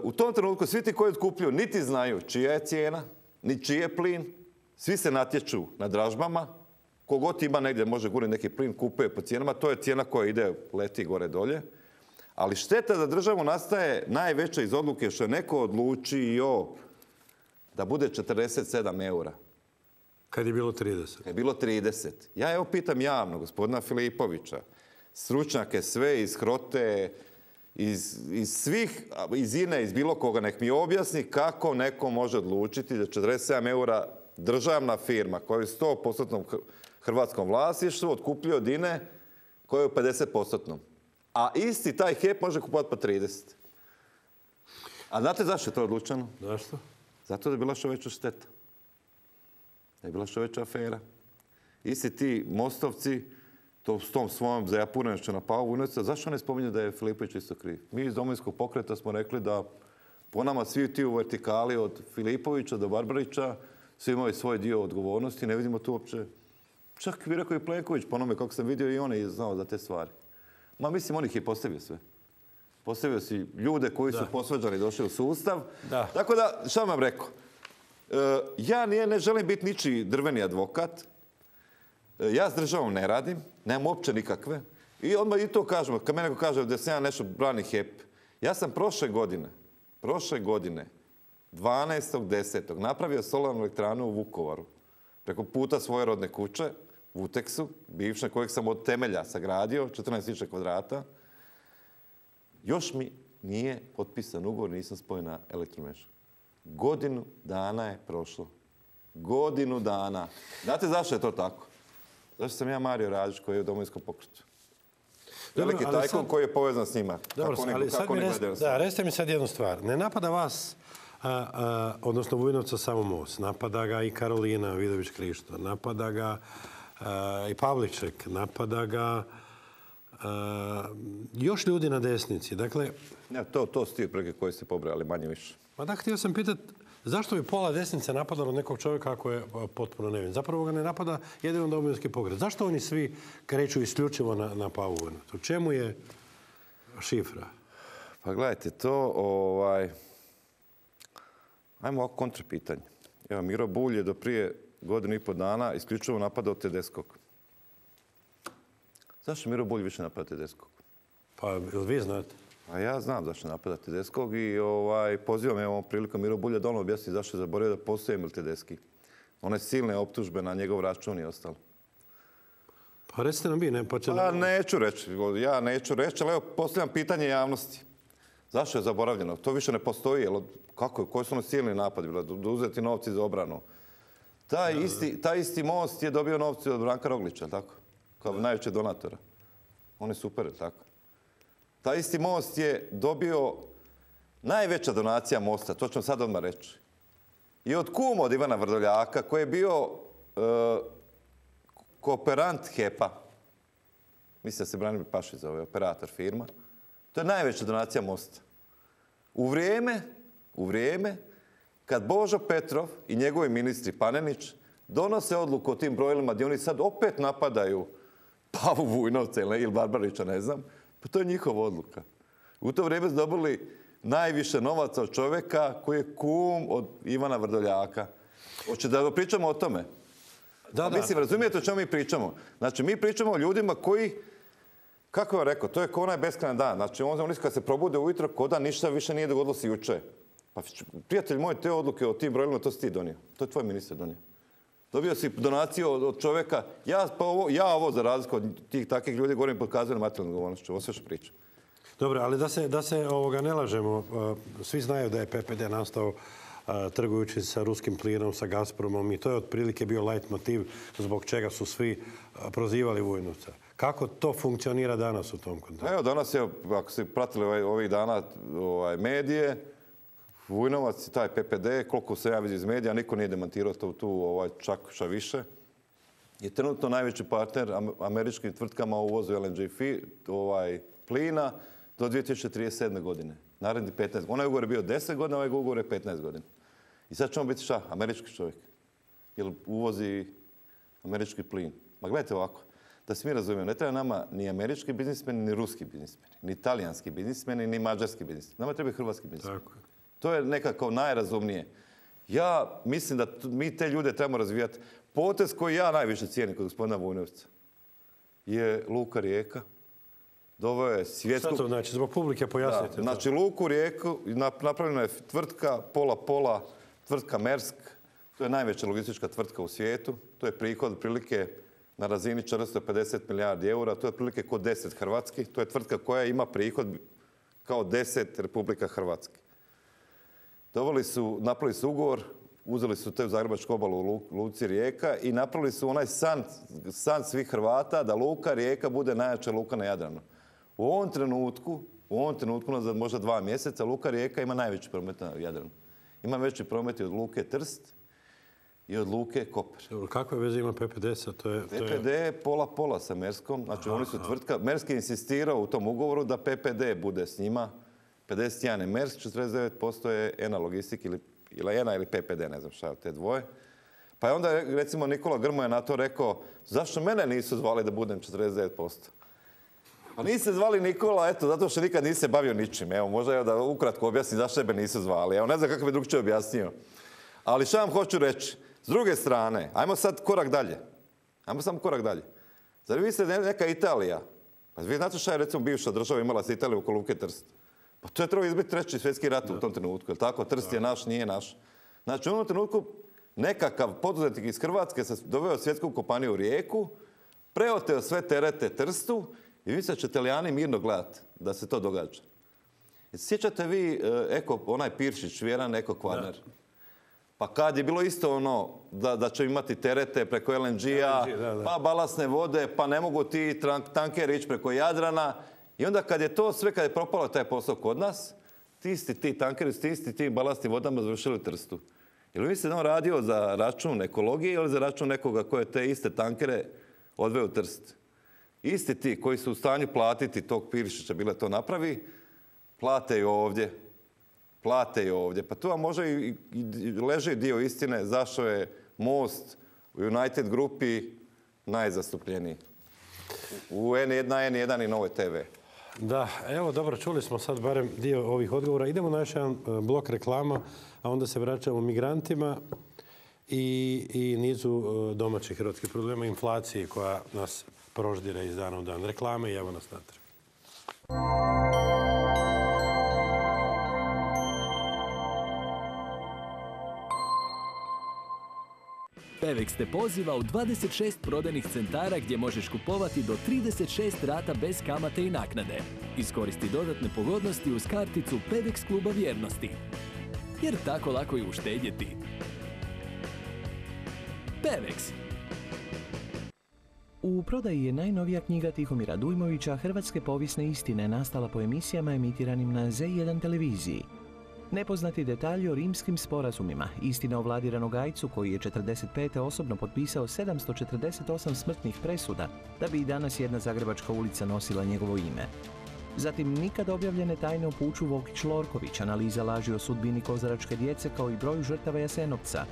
B: U tom trenutku svi ti koji otkupljuju niti znaju čija je cijena, ni čiji je plin. Svi se natječu na dražbama. Kogod ima negdje može guriti neki plin, kupuje po cijenama. To je cijena koja ide, leti gore dolje. Ali šteta za državu nastaje najveća iz odluke što je neko odlučio da bude četrdeset sedam eura.
A: Kad je bilo trideset.
B: Kad je bilo trideset. Ja evo pitam javno gospodina Filipovića, stručnjake sve iz Hrote, iz, iz svih, iz I N E, iz bilo koga, nek mi objasni kako neko može odlučiti da četrdeset sedam eura državna firma koja je u sto posto hrvatskom vlasništvu otkupljuje od I N E koja je u pedeset posto. A isti taj H E P može kupovati po trideset. A znate zašto je to odlučeno?
A: Zašto?
B: Zato da je bila što veća šteta. Da je bila što veća afera. Isti ti mostovci, to s tom svojom zajapurenošću na Pavu Vujnovca, zašto ne spominju da je Filipović isto kriv? Mi iz Domovinskog pokreta smo rekli da po nama svi ti u vertikali od Filipovića do Barbarića svi imaju svoj dio odgovornosti, ne vidimo tu uopće. Čak bi rekao i Plenković, po onome kako sam vidio i on je znao za te stvari. Ma mislim, on ih je postavio sve. Postavio si ljude koji su posvađani došli u sustav.
A: Da.
B: Tako da, šta vam rekao? E, ja nije, ne želim biti ničiji drveni advokat. E, ja s državom ne radim. Nemam uopće nikakve. I odmah i to kažemo. Kad me neko kaže da sam ja nešto brani H E P. Ja sam prošle godine, prošle godine, dvanaestog desetog napravio solarnu elektranu u Vukovaru. Preko puta svoje rodne kuće, u Vuteksu, bivše, kojeg sam od temelja sagradio, četrnaest tisuća kvadrata. Još mi nije potpisan ugovor, nisam spojen na elektromrežu. Godinu dana je prošlo. Godinu dana. Znate zašto je to tako? Zašto sam ja Mario Radić koji je u Domovinskom pokretu. Veliki tajkun sad... koji je povezan s njima.
A: Dobro, kako ali sad mi res... da, recite mi sad jednu stvar. Ne napada vas, a, a, odnosno Vujnovca, samo Most. Napada ga i Karolina Vidović-Krišto. Napada ga a, i Pavliček. Napada ga a, još ljudi na desnici. Dakle...
B: Ja, to, to su ti preke koje ste pobrali, manje više.
A: Pa da, htio sam pitati, zašto bi pola desnice napadalo nekog čovjeka ako je potpuno nevin? Zapravo ga ne napada jedino Domovinski pokret. Zašto oni svi kreću isključivo na, na Pavu Vujnovca? U čemu je šifra?
B: Pa gledajte, to ovaj... Ajmo ovako kontra pitanje. Evo, Miro Bulj je do prije godinu i pol dana isključivo napadao Tedeskog. Zašto Miro Bulj više napada Tedeskog?
A: Pa, jel vi znate?
B: A ja znam zašto napada Tedeskog i ovaj, pozivam je ovom prilikom Miro Bulja da ono objasni zašto je zaboravio da postoji Emil Tedeski. One silne optužbe na njegov račun i ostalo.
A: Pa recite nam vi, ne? Pa, će...
B: pa neću reći, ja neću reći, ali evo postavljam pitanje javnosti. Zašto je zaboravljeno? To više ne postoji. Jel, kako, koji su ono silni napadi? Da uzeti novci za obranu. Taj, da, isti, da. taj isti Most je dobio novci od Branka Roglića, tako? Kao da. najveće donatora. On je super, tako? Taj isti Most je dobio najveća donacija Mosta, to ću vam sad odmah reći. I od kuma od Ivana Vrdoljaka, koji je bio uh, kooperant H E P-a. Mislim da se Branimir Pašić zove, operator firma. To je najveća donacija Mosta. U vrijeme, u vrijeme kad Božo Petrov i njegovi ministri Panenić donose odluku o tim brojilima gdje oni sad opet napadaju Pavu Vujnovca ili Barbarića, ne znam, pa to je njihova odluka. U to vrijeme su dobili najviše novaca od čovjeka koji je kum od Ivana Vrdoljaka. Hoće da pričamo o tome? Da, da. Mislim, razumijete o čemu mi pričamo? Znači, mi pričamo o ljudima koji, kako vam rekao, to je kao onaj beskrajan dan. Znači, oni kad se probude ujutro, ko da ništa više nije dogodilo se juče. Pa, prijatelj moj, te odluke o tim brojilima, to si ti donio. To je tvoj ministar donio. Dobio si donaciju od, od čovjeka. Ja, pa ovo, ja ovo, za razliku od tih takvih ljudi, govorim pod kaznenom materijalnom odgovornošću. Ovo sve što pričam.
A: Dobro, ali da se, da se ovoga ne lažemo. Svi znaju da je P P D nastao a, trgujući sa ruskim plinom, sa Gazpromom i to je otprilike bio light motiv zbog čega su svi a, prozivali Vujnovca. Kako to funkcionira danas u tom kontekstu? Evo,
B: danas je, ako ste pratili ovaj, ovih dana ovaj, medije, Vujnovac i taj P P D, koliko se ja vidim iz medija, niko nije demantirao to tu ovaj, čak šta više. je trenutno najveći partner američkim tvrtkama u uvozu L N G ovaj, plina do dvije tisuće trideset sedme. godine. Naredni petnaest. Onaj ugovor je bio deset godina, ovaj ugovor je petnaest godina. I sad ćemo biti šta? Američki čovjek. Jer uvozi američki plin. Ma gledajte ovako. Da se mi razumijemo, ne treba nama ni američki biznismeni, ni ruski biznismeni, ni italijanski biznismeni, ni mađarski biznismeni. Nama treba i hrvatski biznismeni. To je nekako najrazumnije. Ja mislim da mi te ljude trebamo razvijati. Potez koji ja najviše cijenim kod gospodina Vujnovca je Luka Rijeka. Doveo je svjetsku...
A: Šta to znači? Zbog publike pojasnite.
B: Da, znači Luku Rijeku napravljena je tvrtka, pola pola, tvrtka Maersk. To je najveća logistička tvrtka u svijetu. To je prihod prilike na razini četiristo pedeset milijardi eura. To je prilike kod deset Hrvatski. To je tvrtka koja ima prihod kao deset Republika Hrvatske. Doveli su, napravili su ugovor, uzeli su te u Zagrebačku obalu u Luci Rijeka i napravili su onaj san, san svih Hrvata da Luka Rijeka bude najjača luka na Jadranu. U ovom trenutku, u ovom trenutku, za možda dva mjeseca, Luka Rijeka ima najveći promet na Jadranu. Ima veći promet i od Luke Trst i od Luke Koper.
A: Kakve veze ima P P D sa? To je,
B: to je... P P D je pola-pola sa Merskom. Znači, aha, oni su tvrtka... Mersk je insistirao u tom ugovoru da P P D bude s njima. pedeset jedan je Mersk, četrdeset devet posto je ENA Logistik ili, ili ENA ili P P D, ne znam šta, te dvoje. Pa je onda, recimo, Nikola Grmoja na to rekao, zašto mene nisu zvali da budem četrdeset devet posto? Pa niste zvali Nikola, eto, zato što nikad nisi se bavio ničim. Evo, možda evo da ukratko objasnim zašto me nisu zvali. Evo, ne znam kako bi drugčije objasnio. Ali šta vam hoću reći? S druge strane, ajmo sad korak dalje. Ajmo samo korak dalje. Zar vi ste neka Italija? Pa vi znate šta je, recimo, bivša država imala sa Italijom oko Luke Trst? Pa to je trebao izbiti treći svjetski rat u tom trenutku. Jel tako? Trst je naš, nije naš. Znači, u onom trenutku nekakav poduzetnik iz Hrvatske se doveo svjetsku kompaniju u Rijeku, preoteo sve terete Trstu i vi se će Italijani mirno gledati da se to događa. Sjećate vi Eko, onaj Piršić, Vjeran Eko Kvarner? Pa kad je bilo isto ono da, da će imati terete preko L N G-a, pa balasne vode, pa ne mogu ti tankeri ići preko Jadrana. I onda kad je to sve, kad je propalo taj posao kod nas, ti isti ti tankeri, ti isti ti balastni vodama završili u Trstu. Jel vi ste on radio za račun ekologije ili za račun nekoga koje te iste tankere odveo u Trst? Isti ti koji su u stanju platiti tog Piršića, bile to napravi, plate i ovdje. Plate i ovdje. Pa tu vam može i, i leži dio istine zašto je Most u United grupi najzastupljeniji. U N jedan, N jedan i Novoj T V.
A: Da, evo dobro, čuli smo sad barem dio ovih odgovora. Idemo na još jedan blok reklama, a onda se vraćamo migrantima i, i nizu domaćih hrvatskih problema, inflaciji koja nas proždire iz dana u dan. Reklame i evo nas natrag.
D: Pevex te poziva u dvadeset šest prodajnih centara gdje možeš kupovati do trideset šest rata bez kamate i naknade. Iskoristi dodatne pogodnosti uz karticu Pevex kluba vjernosti. Jer tako lako je uštedjeti. Pevex.
C: U prodaji je najnovija knjiga Tihomira Dujmovića Hrvatske povijesne istine, nastala po emisijama emitiranim na Z jedan televiziji. Nepoznati detalji o rimskim sporazumima, istina o Vladi Ranogajcu koji je četrdeset pete osobno potpisao sedamsto četrdeset osam smrtnih presuda da bi i danas jedna zagrebačka ulica nosila njegovo ime. Zatim nikad objavljene tajne o puču Vokić-Lorković, analiza laži o sudbini kozaračke djece kao i broju žrtava Jasenovca.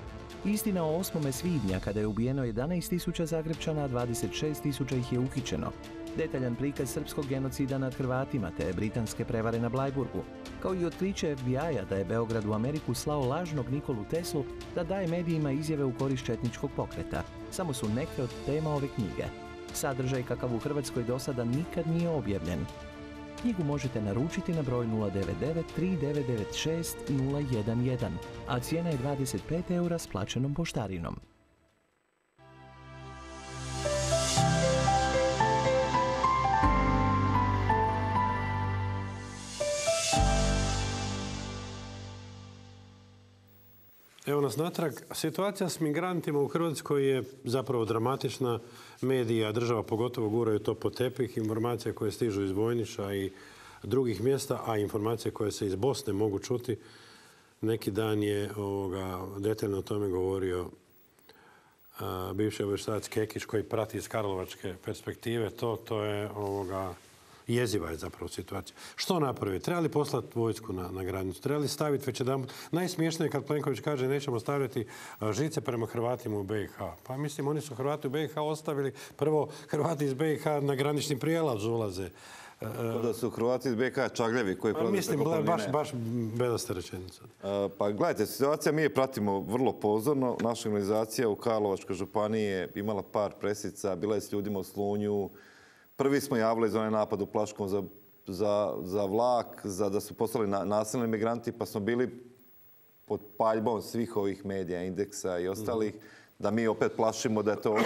C: Istina o osmome svibnja kada je ubijeno jedanaest tisuća Zagrebčana, a dvadeset šest tisuća ih je uhićeno. Detaljan prikaz srpskog genocida nad Hrvatima te britanske prevare na Blajburgu, kao i otkriće F B I-a da je Beograd u Ameriku slao lažnog Nikolu Teslu da daje medijima izjave u korist četničkog pokreta. Samo su neke od tema ove knjige. Sadržaj kakav u Hrvatskoj do sada nikad nije objavljen. Knjigu možete naručiti na broj nula devet devet tri devet devet šest nula jedan jedan, a cijena je dvadeset pet eura s plaćenom poštarinom.
A: Evo nas natrag. Situacija s migrantima u Hrvatskoj je zapravo dramatična. Medija, država pogotovo guraju to po tepih. Informacije koje stižu iz Vojnića i drugih mjesta, a informacije koje se iz Bosne mogu čuti. Neki dan je ovoga, detaljno o tome govorio bivši obavještajac Kekić koji prati iz karlovačke perspektive, to, to je ovoga, jeziva je zapravo situacija. Što napraviti? Treba li poslati vojsku na, na granicu? Treba li staviti već jedan... Najsmiješnije je kad Plenković kaže nećemo stavljati žice prema Hrvatima u B i H. Pa mislim, oni su Hrvati u B i H ostavili. Prvo, Hrvati iz B i H na granični prijelaz ulaze.
B: Da su Hrvati iz B i H čagljevi koji prolaze
A: mislim,
B: preko planine.
A: baš, baš bedasta rečenica.
B: Pa gledajte, situacija mi je pratimo vrlo pozorno. Naša organizacija u Karlovačkoj županiji je imala par presica, bila je s ljudima u Slunju. Prvi smo javili za onaj napad u Plaškom za, za, za vlak, za da su poslali na, nasilni migranti, pa smo bili pod paljbom svih ovih medija, Indeksa i ostalih, mm. da mi opet plašimo da je to...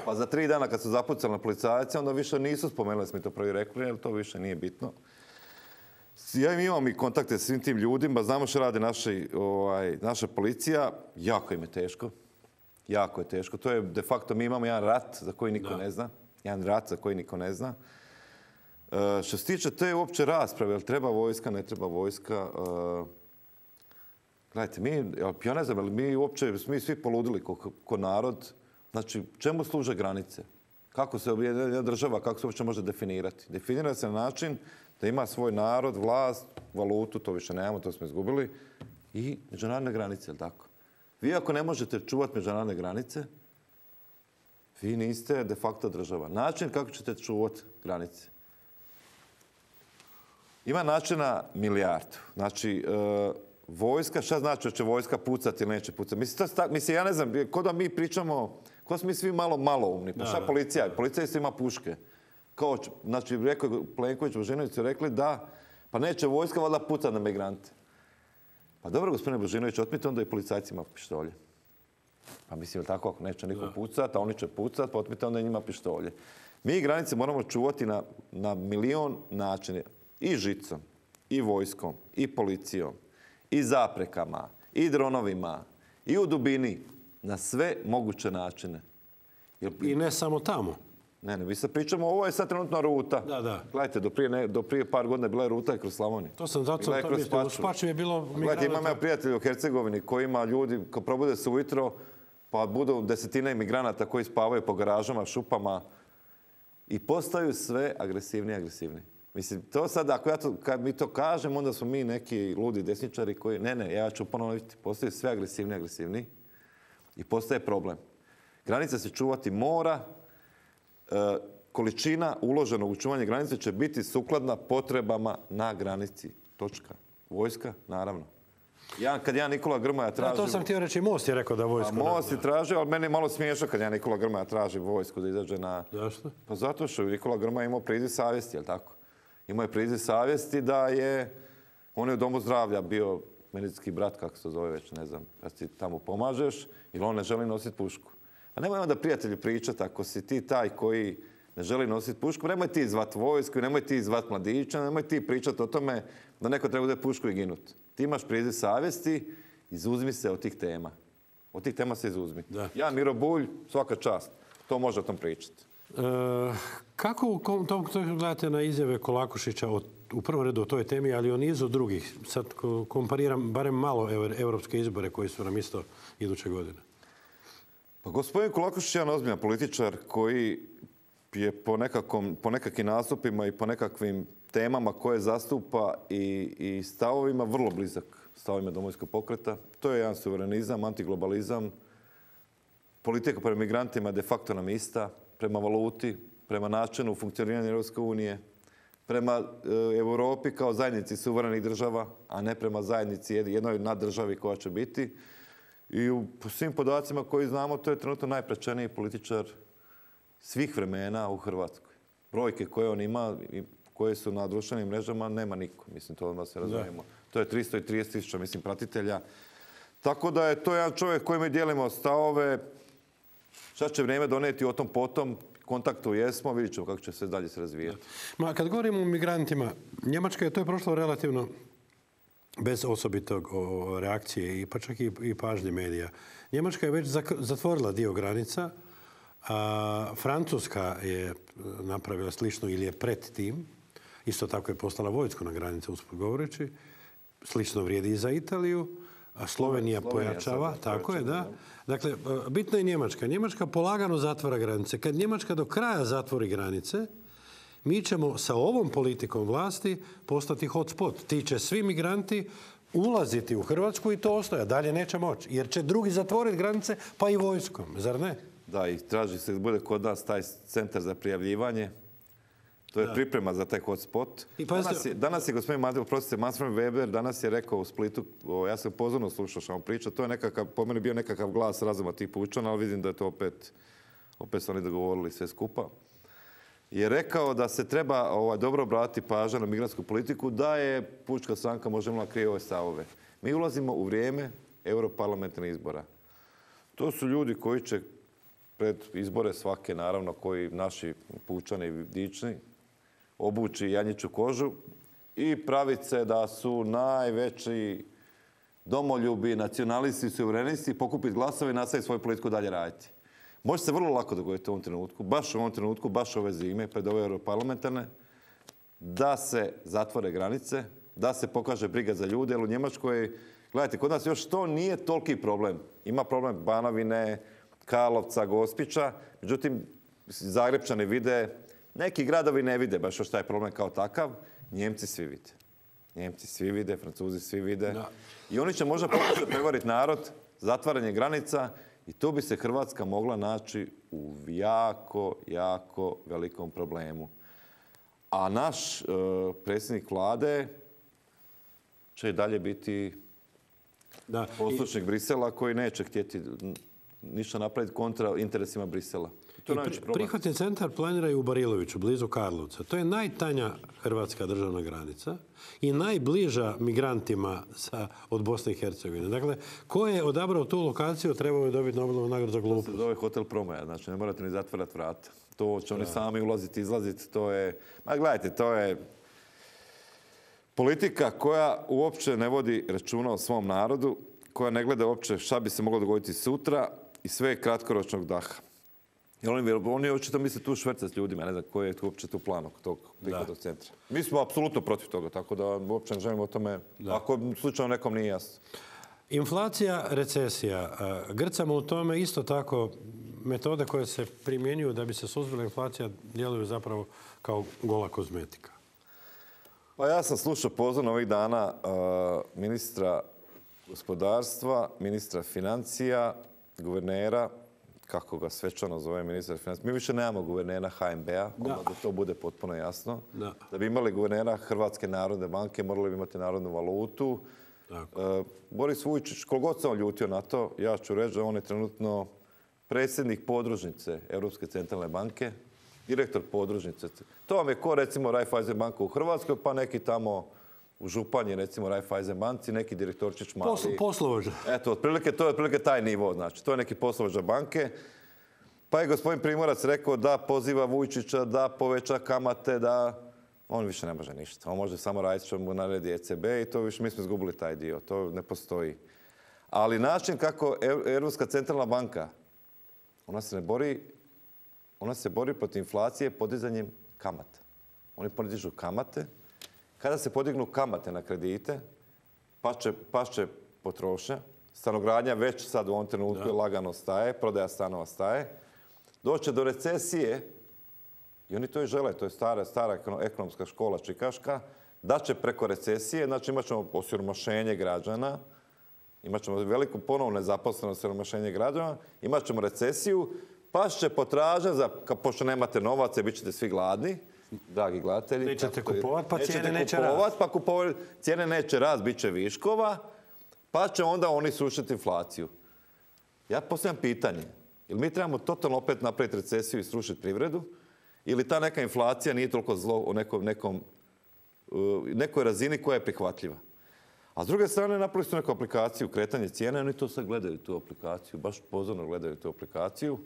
B: Pa za tri dana kad su zapucali na policajce, onda više nisu spomenuli, smo mi to prvi rekli, jer to više nije bitno. Ja imam i kontakte s svim tim ljudima, znamo što radi naši, ovaj, naša policija, jako im je teško. Jako je teško. To je de facto, mi imamo jedan rat za koji niko da. ne zna. Jedan rat za koji niko ne zna. E, što se tiče te uopće rasprave, jel treba vojska, ne treba vojska, e, gledajte, mi, ja ne znam, mi uopće, mi svi poludili ko, ko narod. Znači, čemu služe granice? Kako se jedna država, kako se uopće može definirati? Definira se na način da ima svoj narod, vlast, valutu, to više nemamo, to smo izgubili, i međunarodne granice, jel tako? Vi ako ne možete čuvati međunarodne granice, vi niste de facto država. Način kako ćete čuvati granice. Ima načina milijardu. Znači, e, vojska, šta znači da će vojska pucati ili neće pucati? Mislim, to, mislim ja ne znam, kod da mi pričamo, kod smo mi svi malo maloumni. Pa šta policija? Policija isto ima puške. Kao, znači, rekao je Plenković, Božinović su rekli da, pa neće vojska valjda pucati na migrante. Pa dobro, gospodine Božinović, otmite onda i policajci ima pištolje. Pa mislim, tako, ako neće niko pucati, a oni će pucati, pa otmite onda i njima pištolje. Mi granice moramo čuvati na, na milion načina. I žicom, i vojskom, i policijom, i zaprekama, i dronovima, i u dubini. Na sve moguće načine.
A: Jer... I ne samo tamo.
B: Ne, ne, mi sad pričamo, ovo je sad trenutna ruta.
A: Da, da.
B: Gledajte, do prije, ne, do prije par godina bila je ruta i kroz Slavoniju.
A: To sam zato sam to mislio. U Spaču je bilo migranata.
B: Gledajte, imam ja prijatelji u Hercegovini koji ima ljudi, ko probude se ujutro, pa budu desetine imigranata koji spavaju po garažama, šupama i postaju sve agresivniji i agresivniji. Mislim, to sad, ako ja to, kad mi to kažem, onda smo mi neki ludi desničari koji, ne, ne, ja ću ponoviti, postaju sve agresivniji i agresivniji i postaje problem. Granica se čuvati mora, e, količina uloženog u čuvanje granice će biti sukladna potrebama na granici. Točka. Vojska, naravno. Ja, kad ja Nikola Grmoja tražim...
A: Da, to sam htio reći, Most je rekao da vojsku...
B: A Most je tražio, ali meni je malo smiješno kad ja Nikola Grmoja traži vojsku da izađe na...
A: Zašto?
B: Pa zato što Nikola Grmoja imao priziv savjesti, jel tako? Imao je priziv savjesti da je... On je u domu zdravlja bio medicinski brat, kako se zove već, ne znam, kad ti tamo pomažeš, ili on ne želi nositi pušku. Pa nemoj onda prijatelju pričati, ako si ti taj koji ne želi nositi pušku, nemoj ti zvat vojsku, nemoj ti zvat mladića, nemoj ti pričati o tome da neko treba uzeti pušku i ginuti. Ti imaš priziv savjesti, izuzmi se od tih tema. Od tih tema se izuzmi. Da. Ja, Miro Bulj, svaka čast. To može o tom pričati.
A: E, kako to, to gledate na izjave Kolakušića o, u prvom redu o toj temi, ali o nizu drugih? Sad kompariram barem malo evropske izbore koji su nam isto iduće godine.
B: Pa gospodin Kolakušić je jedan ozbiljan političar koji je po, nekakvom, po nekakvim nastupima i po nekakvim temama koje zastupa i, i stavovima vrlo blizak stavovima Domovinskog pokreta. To je jedan suverenizam, antiglobalizam. Politika prema migrantima de facto nam ista, prema valuti, prema načinu funkcioniranja Europske unije, prema e, Europi kao zajednici suverenih država, a ne prema zajednici jednoj naddržavi koja će biti. I u svim podacima koji znamo, to je trenutno najpraćeniji političar svih vremena u Hrvatskoj. Brojke koje on ima i koje su na društvenim mrežama, nema niko. Mislim, to odmah se razumijemo. To je tristo trideset tisuća, mislim, pratitelja. Tako da je to jedan čovjek koji mi dijelimo stavove. Šta će vrijeme doneti o tom potom, kontaktu jesmo, vidjet ćemo kako će se dalje se razvijati.
A: Ma, kad govorimo o migrantima, Njemačka je to je prošlo relativno bez osobitog o, reakcije i pa čak i, i pažnje medija. Njemačka je već zatvorila dio granica, a Francuska je napravila slično ili je pred tim. Isto tako je poslala vojsku na granice, usput govoreći. Slično vrijedi i za Italiju. a Slovenija pojačava, tako je, da. Dakle, bitna je Njemačka. Njemačka polagano zatvara granice. Kad Njemačka do kraja zatvori granice, mi ćemo sa ovom politikom vlasti postati hotspot. Ti će svi migranti ulaziti u Hrvatsku i to ostaje. Dalje neće moći. Jer će drugi zatvoriti granice, pa i vojskom. Zar ne?
B: Da, i traži se da bude kod nas taj centar za prijavljivanje. To je da. priprema za taj hotspot. I danas, je, danas je gospodin Manfred, prostite, Manfred Weber danas je rekao u Splitu, o, ja sam pozorno slušao što vam priča, to je nekakav, po meni bio nekakav glas razuma tih pučana, ali vidim da je to opet, opet su oni dogovorili sve skupa. Je rekao da se treba ovaj, dobro obratiti pažnju na migransku politiku, da je Pučka stranka možemo krije ove stavove. Mi ulazimo u vrijeme europarlamentarnih izbora. To su ljudi koji će pred izbore svake, naravno, koji naši pučani dični, obući janjiću kožu i praviti se da su najveći domoljubi, nacionalisti, suverenisti, pokupiti glasove i nastaviti svoju politiku dalje raditi. Može se vrlo lako dogoditi u ovom trenutku, baš u ovom trenutku, baš ove zime, pred ove europarlamentarne, da se zatvore granice, da se pokaže briga za ljude, jer u Njemačkoj, gledajte, kod nas još to nije toliki problem. Ima problem Banovine, Karlovca, Gospića, međutim, Zagrebčani vide, neki gradovi ne vide baš još taj problem kao takav, Njemci svi vide. Njemci svi vide, Francuzi svi vide. Da. I oni će možda pokušati prevariti narod, zatvaranje granica, i tu bi se Hrvatska mogla naći u jako, jako velikom problemu. A naš e, predsjednik vlade će i dalje biti da. poslušnik I... Brisela koji neće htjeti ništa napraviti kontra interesima Brisela. To je pri, prihvatni centar planiraju u Bariloviću, blizu Karlovca. To je najtanja hrvatska državna granica i najbliža migrantima sa, od Bosne i Hercegovine. Dakle, ko je odabrao tu lokaciju, trebao je dobiti Nobelovu nagradu za glupost. To se zove hotel Promaja, znači ne morate ni zatvarati vrata. To će oni da. sami ulaziti, izlaziti, to je... Ma gledajte, to je politika koja uopće ne vodi računa o svom narodu, koja ne gleda uopće šta bi se moglo dogoditi sutra i sve je kratkoročnog daha. Jer oni, oni očito misle tu švercati s ljudima, ne znam koji je uopće tu plan oko tog prihvatnog centra. Mi smo apsolutno protiv toga, tako da uopće ne želimo o tome, da. ako slučajno nekom nije jasno. Inflacija, recesija. Grcamo u tome isto tako metode koje se primjenjuju da bi se suzbila inflacija djeluju zapravo kao gola kozmetika. Pa ja sam slušao pozorno ovih dana uh, ministra gospodarstva, ministra financija, guvernera, kako ga svečano zove ministar financija. Mi više nemamo guvernera ha en be a, da. da to bude potpuno jasno. Da. da bi imali guvernera Hrvatske narodne banke, morali bi imati narodnu valutu. Uh, Boris Vujčić, koliko se on ljutio na to, ja ću reći da on je trenutno predsjednik podružnice Europske centralne banke, direktor podružnice. To vam je ko recimo Raiffeisen banka u Hrvatskoj, pa neki tamo u Županji, recimo Raiffeisen banci, neki direktorčić mali. Posl, poslovođa. Eto, otprilike, to je otprilike taj nivo, znači. To je neki poslovođa banke. Pa je gospodin Primorac rekao da poziva Vujčića, da poveća kamate, da... On više ne može ništa. On može samo raditi što mu naredi e ce be i to više mi smo izgubili taj dio. To ne postoji. Ali način kako Europska centralna banka, ona se ne bori, ona se bori protiv inflacije podizanjem kamata. Oni podižu kamate. Kada se podignu kamate na kredite, pašće, pašće potrošnja. Stanogradnja već sad u ovom trenutku da. lagano staje, prodaja stanova staje. Doće do recesije, i oni to i žele, to je stara, stara ekonomska škola čikaška, da će preko recesije, znači imat ćemo osiromašenje građana, imat ćemo veliku ponovnu nezaposlenost, osiromašenje građana, imat ćemo recesiju, pašće potražnja, za, pošto nemate novaca, bit ćete svi gladni, dragi gledatelji. Nećete kupovati, pa cijene neće rast. Pa kupovat, cijene neće rast, bit će viškova, pa će onda oni sušiti inflaciju. Ja postavljam pitanje, jel mi trebamo totalno opet napraviti recesiju i srušiti privredu, ili ta neka inflacija nije toliko zlo u nekom, nekom, uh, nekoj razini koja je prihvatljiva. A s druge strane napravili su neku aplikaciju, kretanje cijene, oni to sad gledaju tu aplikaciju, baš pozorno gledaju tu aplikaciju.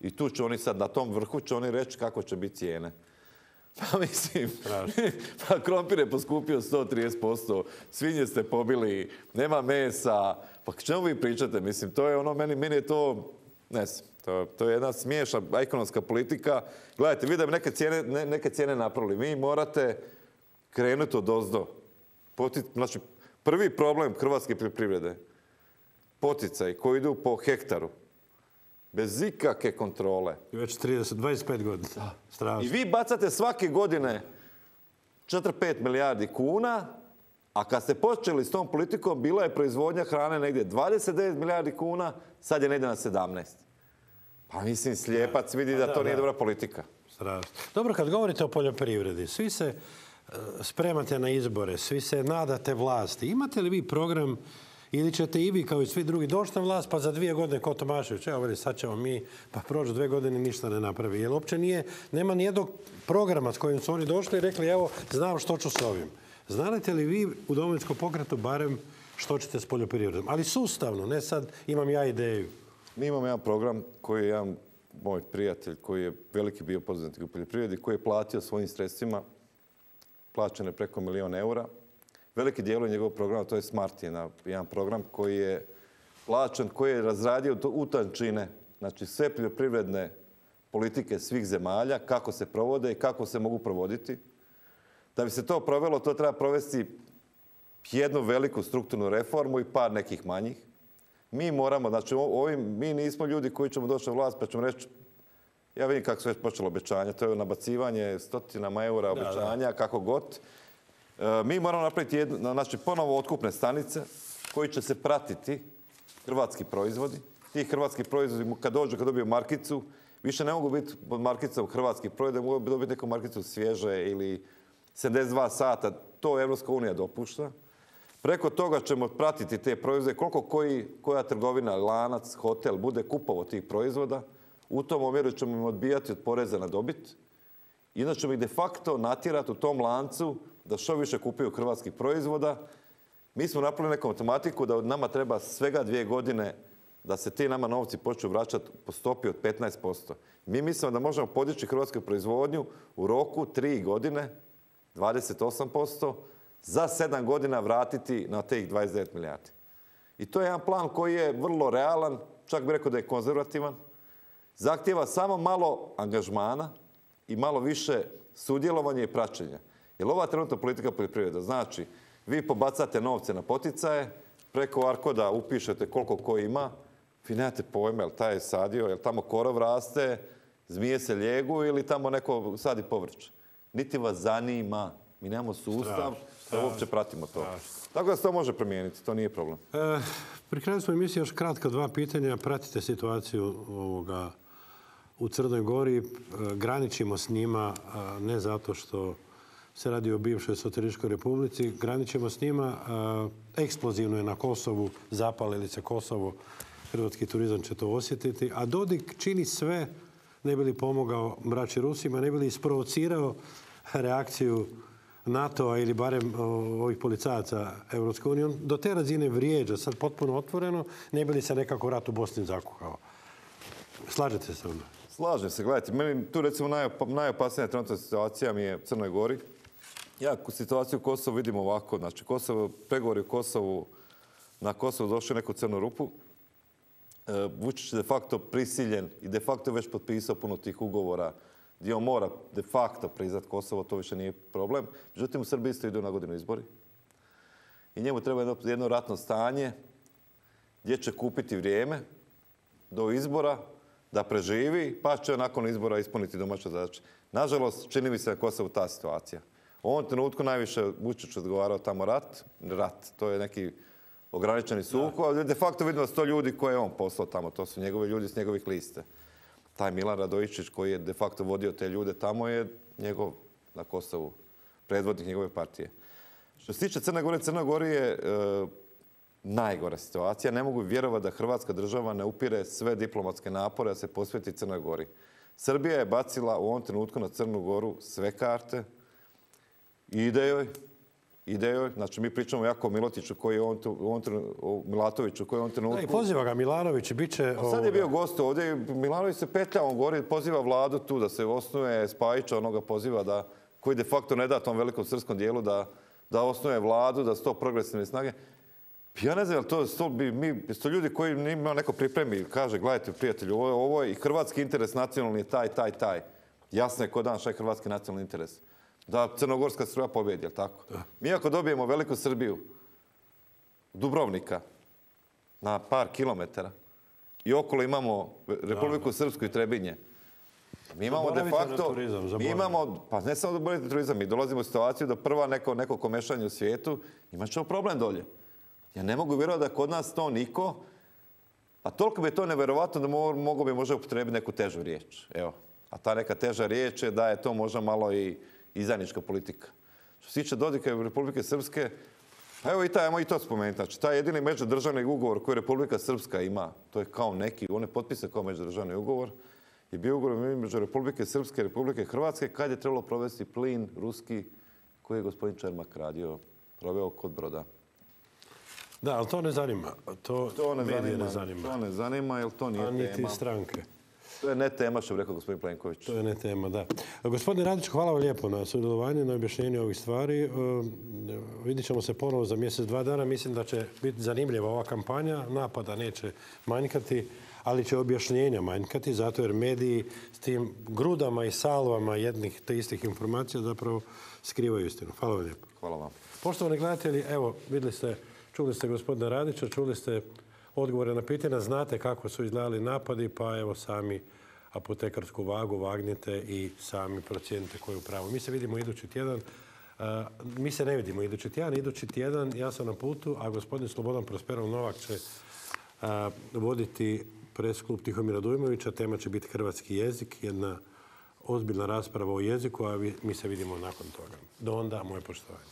B: I tu će oni sad, na tom vrhu će oni reći kako će biti cijene. Pa mislim, pa krompir je poskupio sto trideset posto, svinje ste pobili, nema mesa, pa k čemu vi pričate? Mislim, to je ono, meni, meni je to, ne znam, to, to je jedna smiješna ekonomska politika. Gledajte, vi da bi neke cijene, ne, neke cijene napravili, vi morate krenuti od ozdo. Znači, prvi problem hrvatske privrede poticaji koji idu po hektaru, bez ikakve kontrole.
A: I već trideset, dvadeset pet godina. Strašno.
B: I vi bacate svake godine četiri pet milijardi kuna, a kad ste počeli s tom politikom, bila je proizvodnja hrane negdje dvadeset devet milijardi kuna, sad je negdje na sedamnaest. Pa mislim, slijepac vidi da to nije dobra politika.
A: Strašno. Dobro, kad govorite o poljoprivredi, svi se e, spremate na izbore, svi se nadate vlasti. Imate li vi program ili ćete i vi kao i svi drugi doći na vlast pa za dvije godine ko Tomašević, evo veli, sad ćemo mi, pa prođu dvije godine ništa ne napravi. Jer uopće nije, nema nijednog programa s kojim su oni došli i rekli evo, znam što ću s ovim. Znate li vi u Domovinskom pokretu barem što ćete s poljoprivredom? Ali sustavno, ne sad imam ja ideju.
B: Mi imamo jedan program koji je jedan moj prijatelj koji je veliki bio poduzetnik u poljoprivredi, koji je platio svojim sredstvima, plaćeno je preko milijon eura. Veliki dijelo njegovog programa, to je Smart, jedan program koji je plaćen, koji je razradio u tančine, znači sve poljoprivredne politike svih zemalja, kako se provode i kako se mogu provoditi. Da bi se to provelo, to treba provesti jednu veliku strukturnu reformu i par nekih manjih. Mi moramo, znači ovim, mi nismo ljudi koji ćemo doći na vlast pa ćemo reći, ja vidim kako su već počelo obećanja, to je nabacivanje stotinama eura obećanja, kako god. E, mi moramo napraviti jednu, znači ponovo otkupne stanice koji će se pratiti hrvatski proizvodi. Ti hrvatski proizvodi, kad dođu, kad dobiju markicu, više ne mogu biti pod markicom hrvatskih proizvoda, mogu dobiti neku markicu svježe ili sedamdeset dva sata, to Evropska unija dopušta. Preko toga ćemo pratiti te proizvode, koliko koji, koja trgovina, lanac, hotel bude kupovao tih proizvoda. U tom omjeru ćemo im odbijati od poreza na dobit. I onda ćemo ih de facto natjerati u tom lancu da što više kupuju hrvatskih proizvoda. Mi smo napravili neku matematiku da od nama treba svega dvije godine da se ti nama novci počnu vraćati po stopi od petnaest posto. Mi mislimo da možemo podići hrvatsku proizvodnju u roku tri godine, dvadeset osam posto, za sedam godina vratiti na tih dvadeset devet milijardi. I to je jedan plan koji je vrlo realan, čak bih rekao da je konzervativan. Zahtijeva samo malo angažmana i malo više sudjelovanja i praćenja. Jer ova trenutna politika poljoprivreda znači, vi pobacate novce na poticaje, preko Arkoda upišete koliko ko ima, vi nemate pojma, jel taj je sadio, jel tamo korov raste, zmije se ljegu ili tamo neko sadi povrće. Niti vas zanima. Mi nemamo sustav da uopće pratimo to. Tako da se to može promijeniti, to nije problem.
A: E, pri kraju smo emisije još kratko dva pitanja. Pratite situaciju ovoga u Crnoj Gori. E, graničimo s njima, a ne zato što se radi o bivšoj Socijalističkoj republici. Graničimo s njima. E, eksplozivno je na Kosovu, zapalili se Kosovo. Hrvatski turizam će to osjetiti. A Dodik čini sve, ne bi li pomogao braći Rusima, ne bi li isprovocirao reakciju NATO-a ili barem ovih policajaca Evropske unije. On do te razine vrijeđa, sad potpuno otvoreno, ne bi li se nekako rat u Bosni zakuhao. Slažete se sa mnom?
B: Slažem se, gledajte, meni tu recimo najopasnija trenutna situacija mi je u Crnoj Gori. Ja situaciju u Kosovu vidim ovako, znači Kosovo, pregovori u Kosovu, na Kosovu došli u neku crnu rupu. Vučić je de facto prisiljen i de facto je već potpisao puno tih ugovora gdje on mora de facto priznat Kosovo, to više nije problem. Međutim, u Srbiji isto idu na godinu izbori. I njemu treba jedno, jedno ratno stanje gdje će kupiti vrijeme do izbora da preživi, pa će nakon izbora ispuniti domaće zadaće. Nažalost, čini mi se na Kosovu ta situacija. U ovom trenutku najviše Vučić odgovarao tamo rat. Rat, to je neki ograničeni sukob, ali de facto vidimo da su to ljudi koje je on poslao tamo. To su njegovi ljudi s njegovih liste. Taj Milan Radojičić koji je de facto vodio te ljude tamo je njegov na Kosovu, predvodnik njegove partije. Što se tiče Crne Gore, Crna Gori je e, najgora situacija. Ne mogu vjerovati da Hrvatska država ne upire sve diplomatske napore da se posveti Crnoj Gori. Srbija je bacila u ovom trenutku na Crnu Goru sve karte. Ide joj, ide joj. Znači mi pričamo o Jakovu Milotiću koji je on, on, o Milatoviću koji je on trenutku...
A: Da, i poziva ga Milanović, bit će...
B: A sad je bio gost ovdje, Milanović se petlja, on govori, poziva vladu tu da se osnuje, Spajića onoga poziva da, koji de facto ne da tom velikom srpskom dijelu da, da osnuje vladu, da su to progresivne snage. Ja ne znam, jel to, to bi mi, to ljudi koji ima neko pripremi i kaže, gledajte prijatelju, ovo je, ovo je i hrvatski interes nacionalni je taj, taj, taj. Jasno je ko dan šta je hrvatski nacionalni interes. Da crnogorska struja pobjedi, jel tako? Da. Mi ako dobijemo veliku Srbiju, Dubrovnika, na par kilometara i okolo imamo Republiku Srpsku i Trebinje. Mi imamo de facto, mi imamo, pa ne samo da borite turizam, mi dolazimo u situaciju da prva neko, neko komešanje u svijetu, imat ćemo problem dolje. Ja ne mogu vjerovati da kod nas to niko, a toliko bi je to neverovatno da mogu bi možda upotrebiti neku težu riječ. Evo, a ta neka teža riječ je da je to možda malo i izdajnička politika. Što se tiče Dodika i Republike Srpske, pa evo i taj, ajmo i to spomenuti. Znači, taj jedini međudržavni ugovor koji Republika Srpska ima, to je kao neki, on je potpisan kao međudržavni ugovor, je bio ugovor između Republike Srpske i Republike Hrvatske kad je trebalo provesti plin ruski koji je gospodin Čermak radio, proveo kod broda.
A: Da, ali to ne zanima. To,
B: to ne
A: medije
B: zanima,
A: ne zanima.
B: To ne zanima, jer to nije
A: tema. A niti stranke.
B: To je ne tema, što bi rekao gospodin Plenković.
A: To je ne tema, da. Gospodine Radić, hvala vam lijepo na sudjelovanju, na objašnjenju ovih stvari. Vidit ćemo se ponovo za mjesec, dva dana. Mislim da će biti zanimljiva ova kampanja. Napada neće manjkati, ali će objašnjenja manjkati, zato jer mediji s tim grudama i salvama jednih te istih informacija zapravo skrivaju istinu. Hvala vam lijepo.
B: Hvala vam.
A: Poštovani gledatelji, evo, vidjeli ste, čuli ste gospodina Radića, čuli ste odgovore na pitanja, znate kako su izgledali napadi, pa evo sami apotekarsku vagu vagnite i sami procijenite koju pravu. Mi se vidimo idući tjedan. Mi se ne vidimo idući tjedan. Idući tjedan ja sam na putu, a gospodin Slobodan Prosperov Novak će voditi presklub Tihomira Dujmovića. Tema će biti hrvatski jezik, jedna ozbiljna rasprava o jeziku, a mi se vidimo nakon toga. Do onda, moje poštovanje.